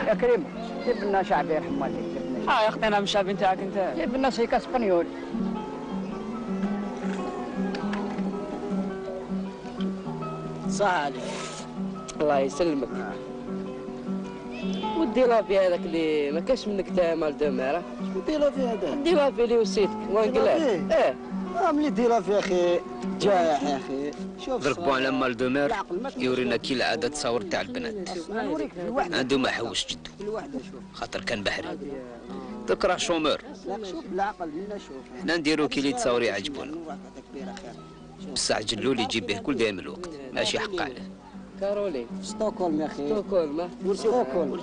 يا كريم جيب لنا شعبي يرحم والديك. يا اختي انا مش شعبي نتاعك انت. جيب لنا سيكا اسبانيول. صالح الله يسلمك. ودي لافي هذاك اللي ما كاش منك تا مال دو مير. ودي لافي هذا؟ دي لافي اللي وصيتك وانقلاب. ملي دي لافي يا اخي جايح يا اخي. شوف ضربوا على مال دو مير يورينا كي العاده تصاور تاع البنات. عنده ما حوش جدو خاطر كان بحري. درك راه شومور. شوف بالعقل منا شوف. حنا نديرو كي اللي تصاور يعجبونا. بصح جلو اللي يجيب به كل دايم الوقت ماشي حق عليه. كارولين ستوكهولم يا اخي. ستوكهولم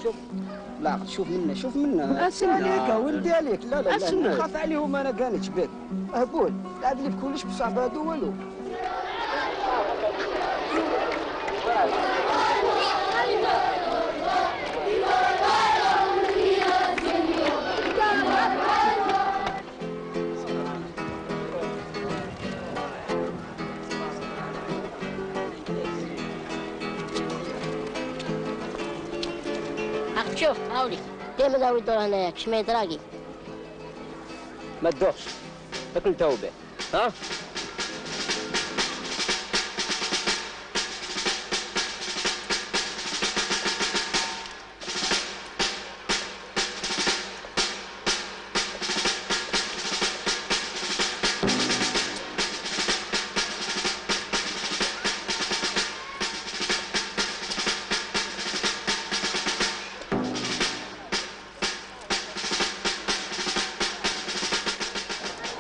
لا شوف منا اسن عليك ولدي عليك. لا نخاف عليهم انا كانت بك اهبول لعب لي بكلش بصعب هادو والو. شوف هاولي ديما داوي الدور هنايا كشما يدراكي. ما تدوخش تاكل توبه ها.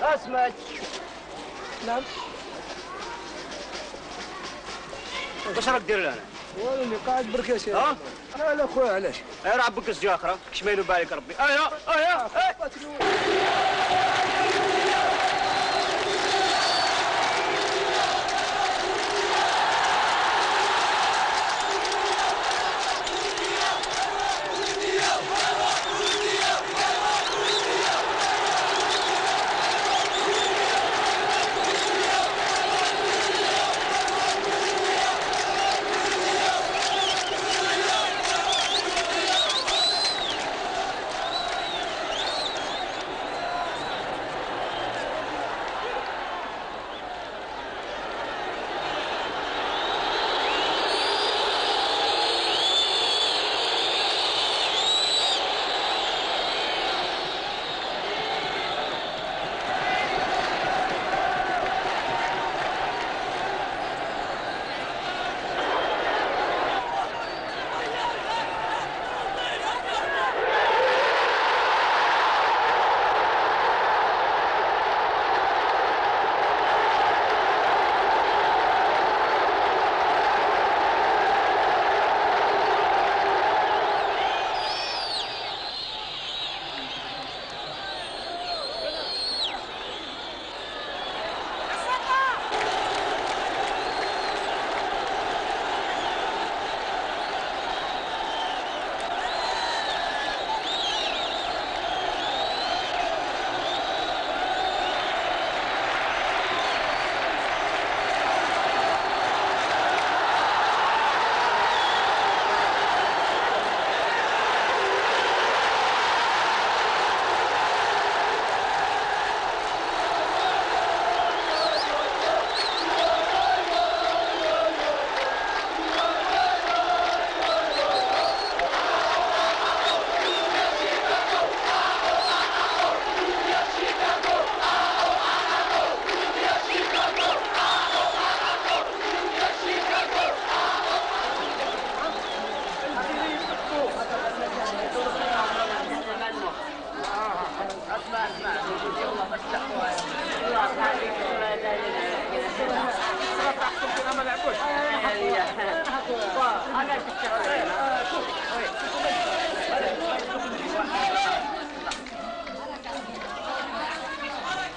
اسمك. نعم. واش راك دير لنا؟ والو اللي قاعد بركاش. ها؟ لا لا خويا علاش؟ راه عبك السجاخره كش ما ينوب عليك ربي. ايا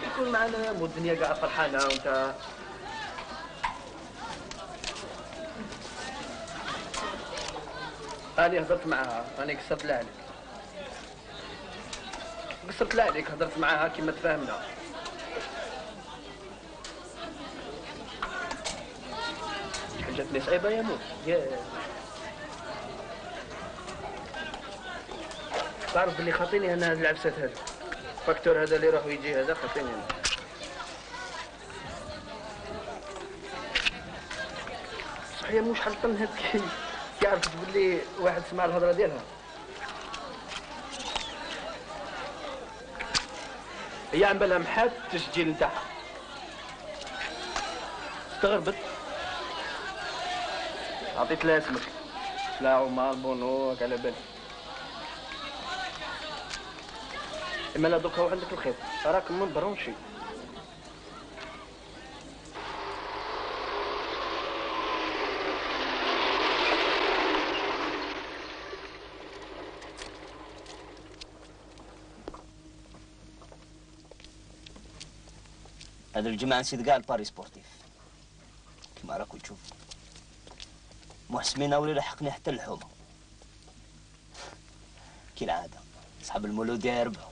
يكون معنا والدنيا قاعده فرحانه وانت أنا هضرت معاها، أنا قصرت لها عليك. قصرت لها عليك، هضرت معاها كيما تفاهمنا. جاتني صعيبة يا مو. تعرف باللي خاطيني أنا هاد العبسات هذا. الفاكتور هذا اللي يروح ويجي هذا خاطيني أنا. صحيح مو شحال طن هاد عرفت باللي واحد سمع الهضره ديالها. هي عم بالها محات التسجيل نتاعها. استغربت. عطيت لها اسمك. لا عمر بونو على بالي. اما لا دوكا عندك الخيط راك من برونشي. هذا الجماعة نسيت كاع الباري سبورتيف كيما راكم تشوفوا. محسمينة ولي لحقني حتى الحومة كالعادة. أصحاب المولودية يربحوا.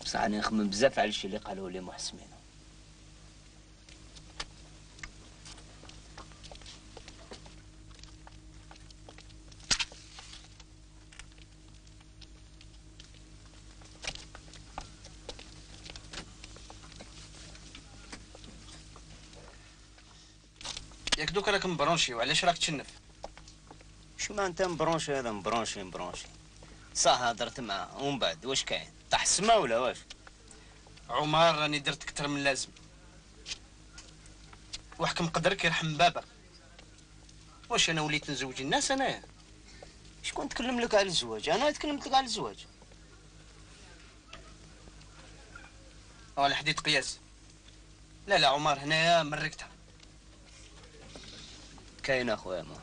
بصح أنا نخمم بزاف على الشيء اللي قالوه لي محسمينة. ياك دوك راك مبرونشي وعلاش راك تشنف؟ شو ما انت مبرونشي هذا مبرونشي. صح هضرت معاه ومن بعد واش كاين؟ طاح السما ولا واش؟ عمر راني درت اكثر من اللازم. وحكم قدرك يرحم بابا. واش انا وليت نزوج الناس انايا؟ شكون تكلم لك على الزواج؟ انا تكلمت لك على الزواج. على حديد قياس. لا عمر هنايا مركتها. كاينه اخويا ما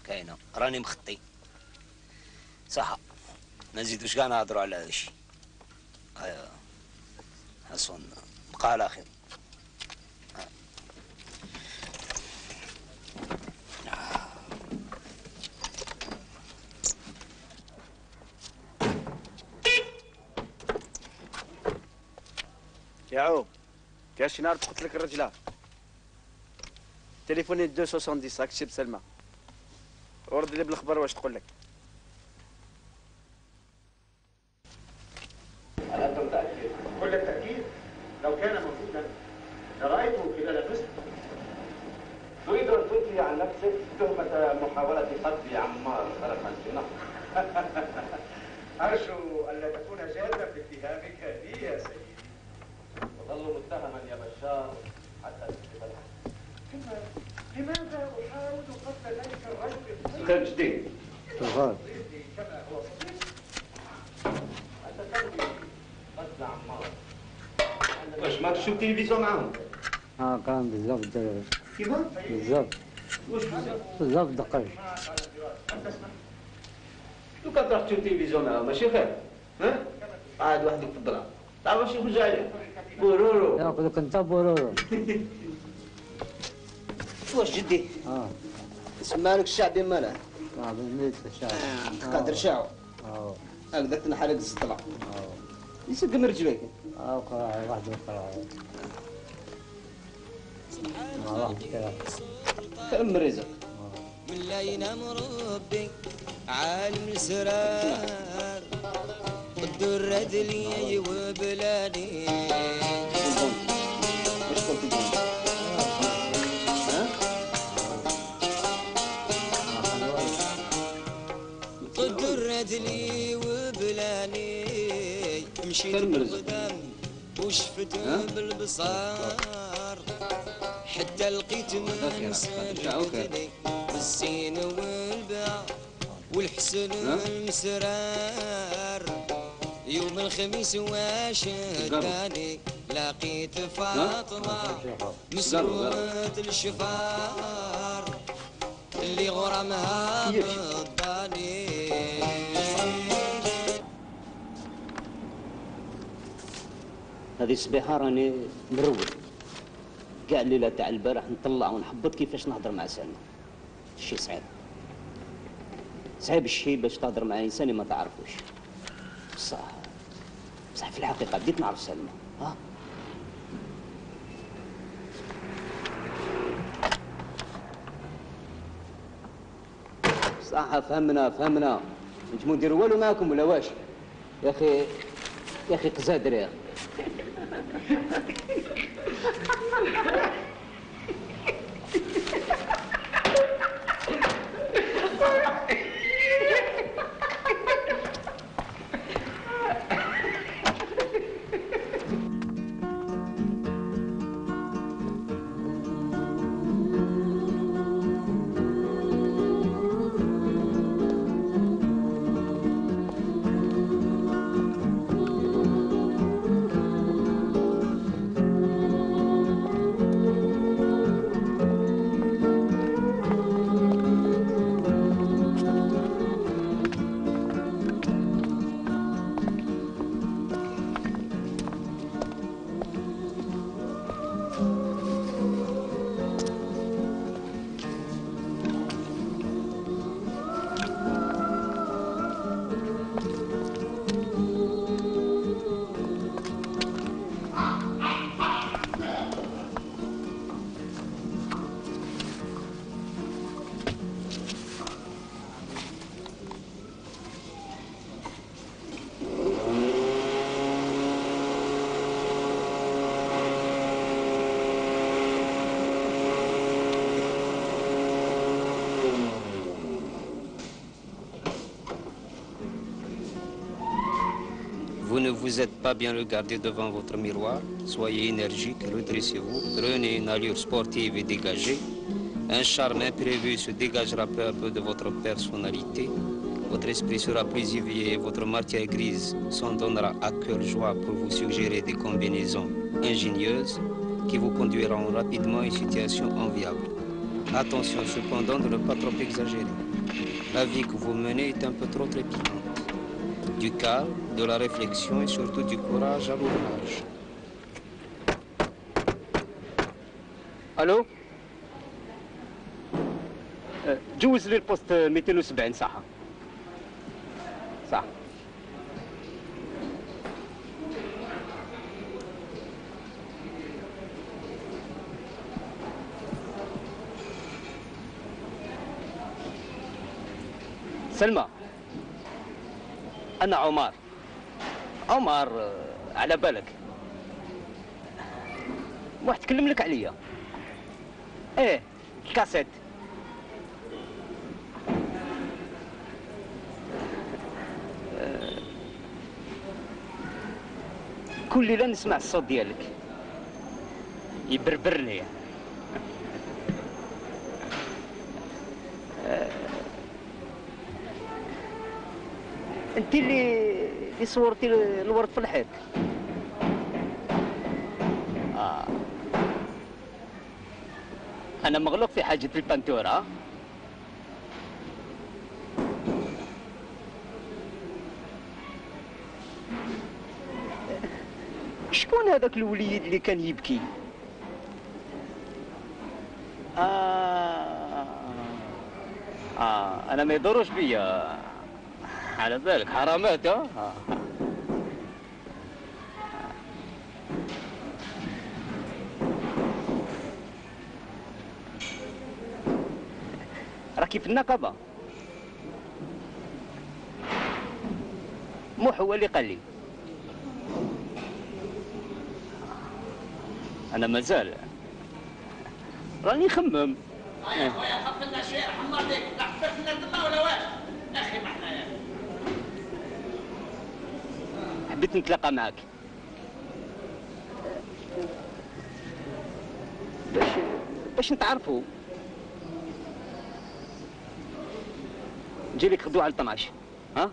كاينه، راني مخطي. صح ما نزيدوش كاع نهضروا على هذا الشيء. ايوا حسن بقى على خير. يا عو كاش شي نهار تقتل لك الرجله. تليفوني 270 راك تشي بسلمى. ورد لي بالخبر واش تقول لك. ألا أنت متأكد؟ كل التأكيد؟ لو كان موجودا لرأيته خلال فسق. تريد أن تنفي عن نفسك تهمة محاولة قتل عمار خلفا في النهر. أرجو ألا تكون جادا في اتهامك بي يا سيدي. وظل متهما يا بشار حتى تثبت الحق. لماذا أحاول قتل ذلك الرجل؟ خير جديد. كما هو صديق. أنت تنوي قتل عمار. واش ما تشوف التلفزيون معاهم؟ كان بزاف الدراري. كيفاه؟ بزاف. واش بزاف؟ بزاف دقايق. لو كان تروح تشوف التلفزيون معاهم ماشي خير؟ ها؟ قاعد وحدك في الظلام. تعرف واش يخرج عليه؟ بورورو. ياخذ لك انت بورورو. واش جدي؟ سمالك الشعبي ماله؟ شعبي ميت الشعبي. تقدر شعو. هكذاك تنحرق الزطلة. يسقم رجليك. قراعي واحد قراعي. واحد كذا. كم رزق. من لا ينام ربي عالم السرار قدر ردلي وبلادي. واش قلت الجون؟ قدر ردلي وبلاني مشيت قدام وشفت بالبصار حتى لقيت من سلكتني بالزين والباع والحسن المسرار. يوم الخميس واش داني لقيت فاطمة مسروة الشفار اللي غرامها بالضاني. هذه الصبيحة راني مروق كاع الليلة تاع البارح نطلع ونحبط كيفاش نهضر مع سلمى. الشي صعيب الشي باش تهضر مع انسان ما تعرفوش. بصح في الحقيقة بديت نعرف سلمى. صح فهمنا نجمو نديرو والو معاكم ولا واش؟ يا اخي قزادر يا اخي. ne vous êtes pas bien regardé devant votre miroir, soyez énergique, redressez-vous, prenez une allure sportive et dégagée. Un charme imprévu se dégagera peu à peu de votre personnalité. Votre esprit sera plus éveillé et votre matière grise s'en donnera à cœur joie pour vous suggérer des combinaisons ingénieuses qui vous conduiront rapidement à une situation enviable. Attention cependant de ne pas trop exagérer. La vie que vous menez est un peu trop trépidante. Du calme, de la réflexion et surtout du courage à l'ouvrage. الو جوز لي البوست 270 صح صح. سلمى أنا عمر على بالك واحد تكلم لك عليا ايه الكاسيت كل ليلة نسمع الصوت ديالك يبربرني انت اللي صورتي الورد في الحيط. انا مغلوق في حاجة البانتورة. شكون هذاك الوليد اللي كان يبكي؟ انا ما يضروش بيا على بالك حرامات. راكي في النقابة. موح هو اللي قال لي. أنا مازال راني نخمم. يا خويا خف لنا شويه حمر ليك لا حبيت لنا تما ولا واش يا اخي ما حنايا. حبيت نتلاقى معاك باش نتعرفوا. نجي لك غدوة على 12 ها؟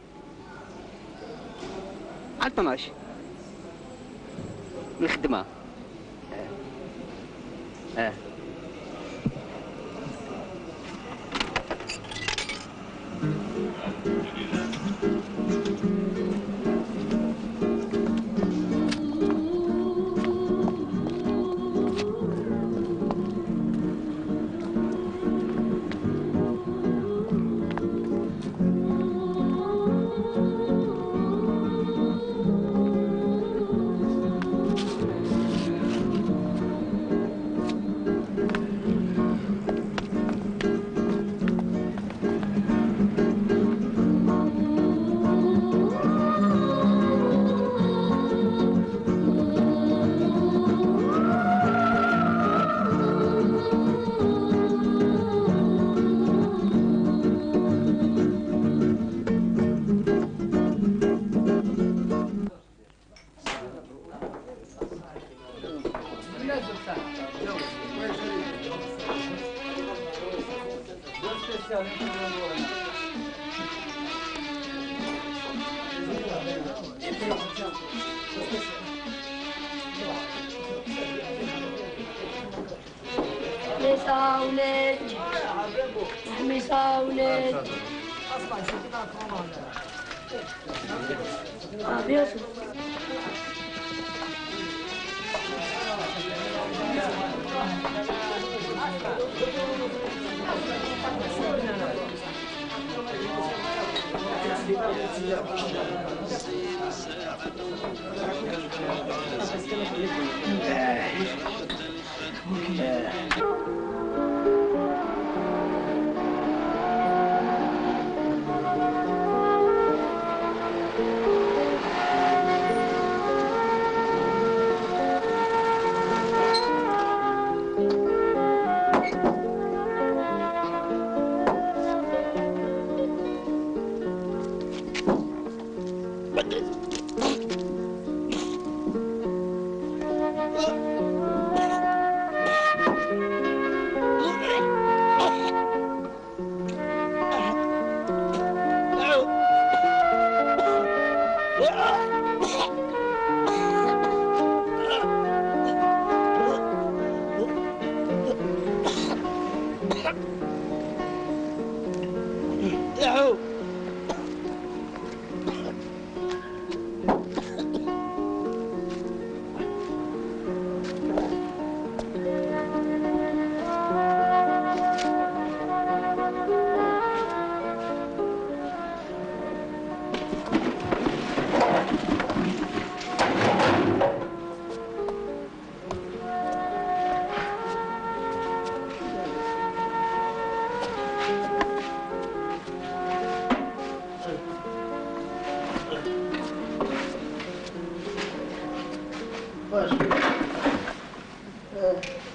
على 12 الخدمة.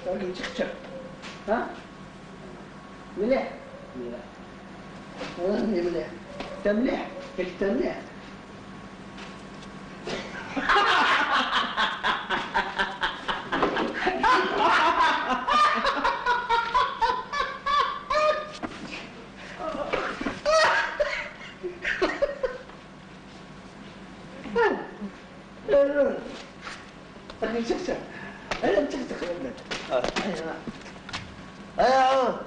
راجل تشخشخ ها مليح مليح راني مليح انت مليح انت مليح راجل تشخشخ انا متشخشخ يا ولد ايوه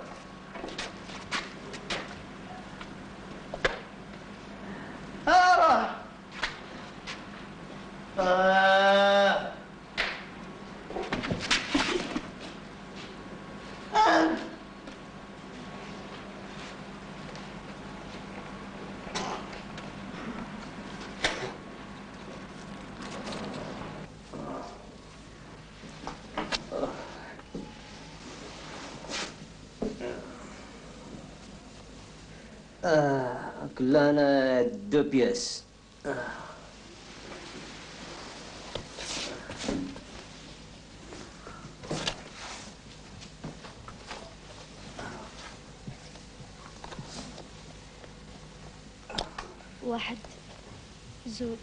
كلنا دو بياس. واحد زوج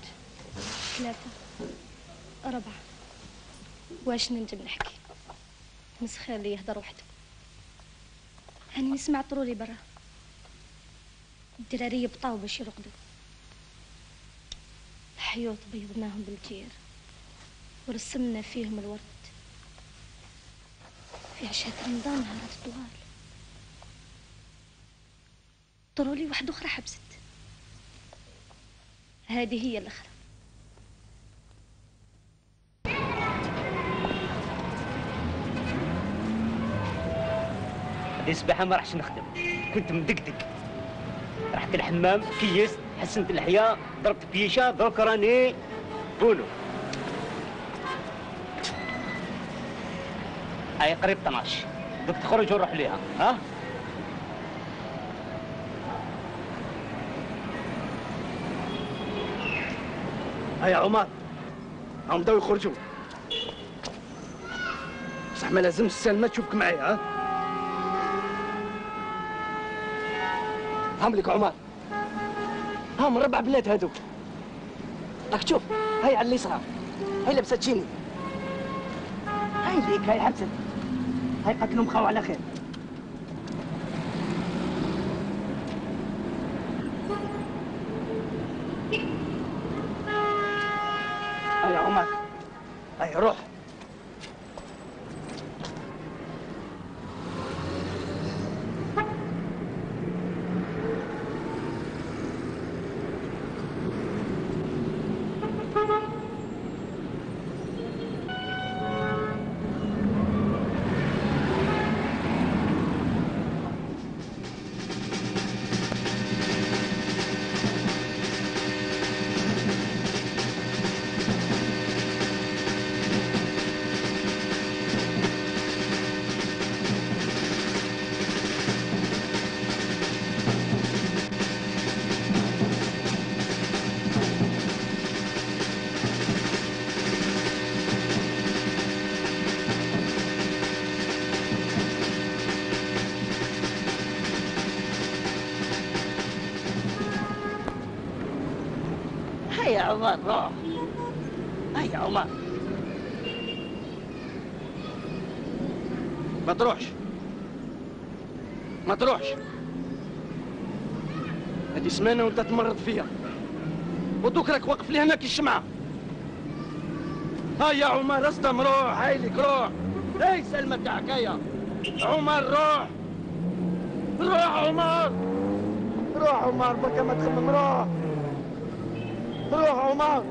ثلاثة أربعة. واش ننجم نحكي؟ مسخير اللي يهدر وحده. هاني نسمع طرولي برا، الدراري يبطاو باش يرقدوا، الحيوط بيضناهم بالجير ورسمنا فيهم الورد في عشاء رمضان نهارات طوال. طرولي واحدة أخرى حبست، هذه هي الأخرى. هذه الصباحة ما راحش نخدم، كنت مدقدق. رحت الحمام كيست حسنت الحياة ضربت بيشة درك راني بولو. هاي قريب 12 دوك تخرج ونروح ليها. ها هيا عمر هم بداو يخرجوا، بصح ما لازمش سلمى تشوفك معايا. ها هم لك عمر، هم 4 بنات هذوك راك تشوف. هاي على اليسار هاي لابسه تشيني، هاي ليك هاي حبست، هاي قتلهم خاو على خير. هاي عمر هاي روح. هيا عمر روح. هيا عمر ما تروحش ما تروحش، هذه سمانة وانت تمرض فيها ودوك راك واقف لي هنا كي الشمعة. هيا عمر استم روح. هايلك روح. هاي سلمى تاعك. هيا عمر روح روح عمر روح عمر بكا ما تخمم. روح روح عمر.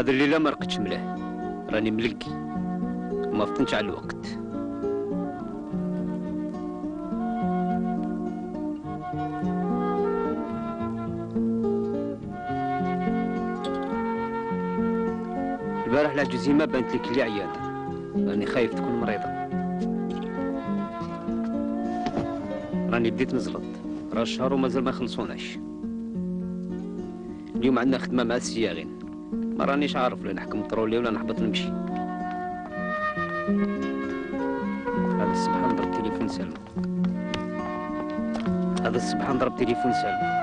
هذا الليله ما رقدتش مليح، راني ملقي وما فطنتش على الوقت. البارح العجوزي ما بانت لك اللي عيانه، راني خايف تكون مريضه. راني بديت نزلط، راه الشهر ومازال ما خلصوناش. اليوم عندنا خدمه مع السياغين، ما رانيش عارف ولا نحكم طرولي ولا نحبط نمشي. هذا الصباح نضرب تليفون سلمى، هذا الصباح نضرب تليفون سلمى.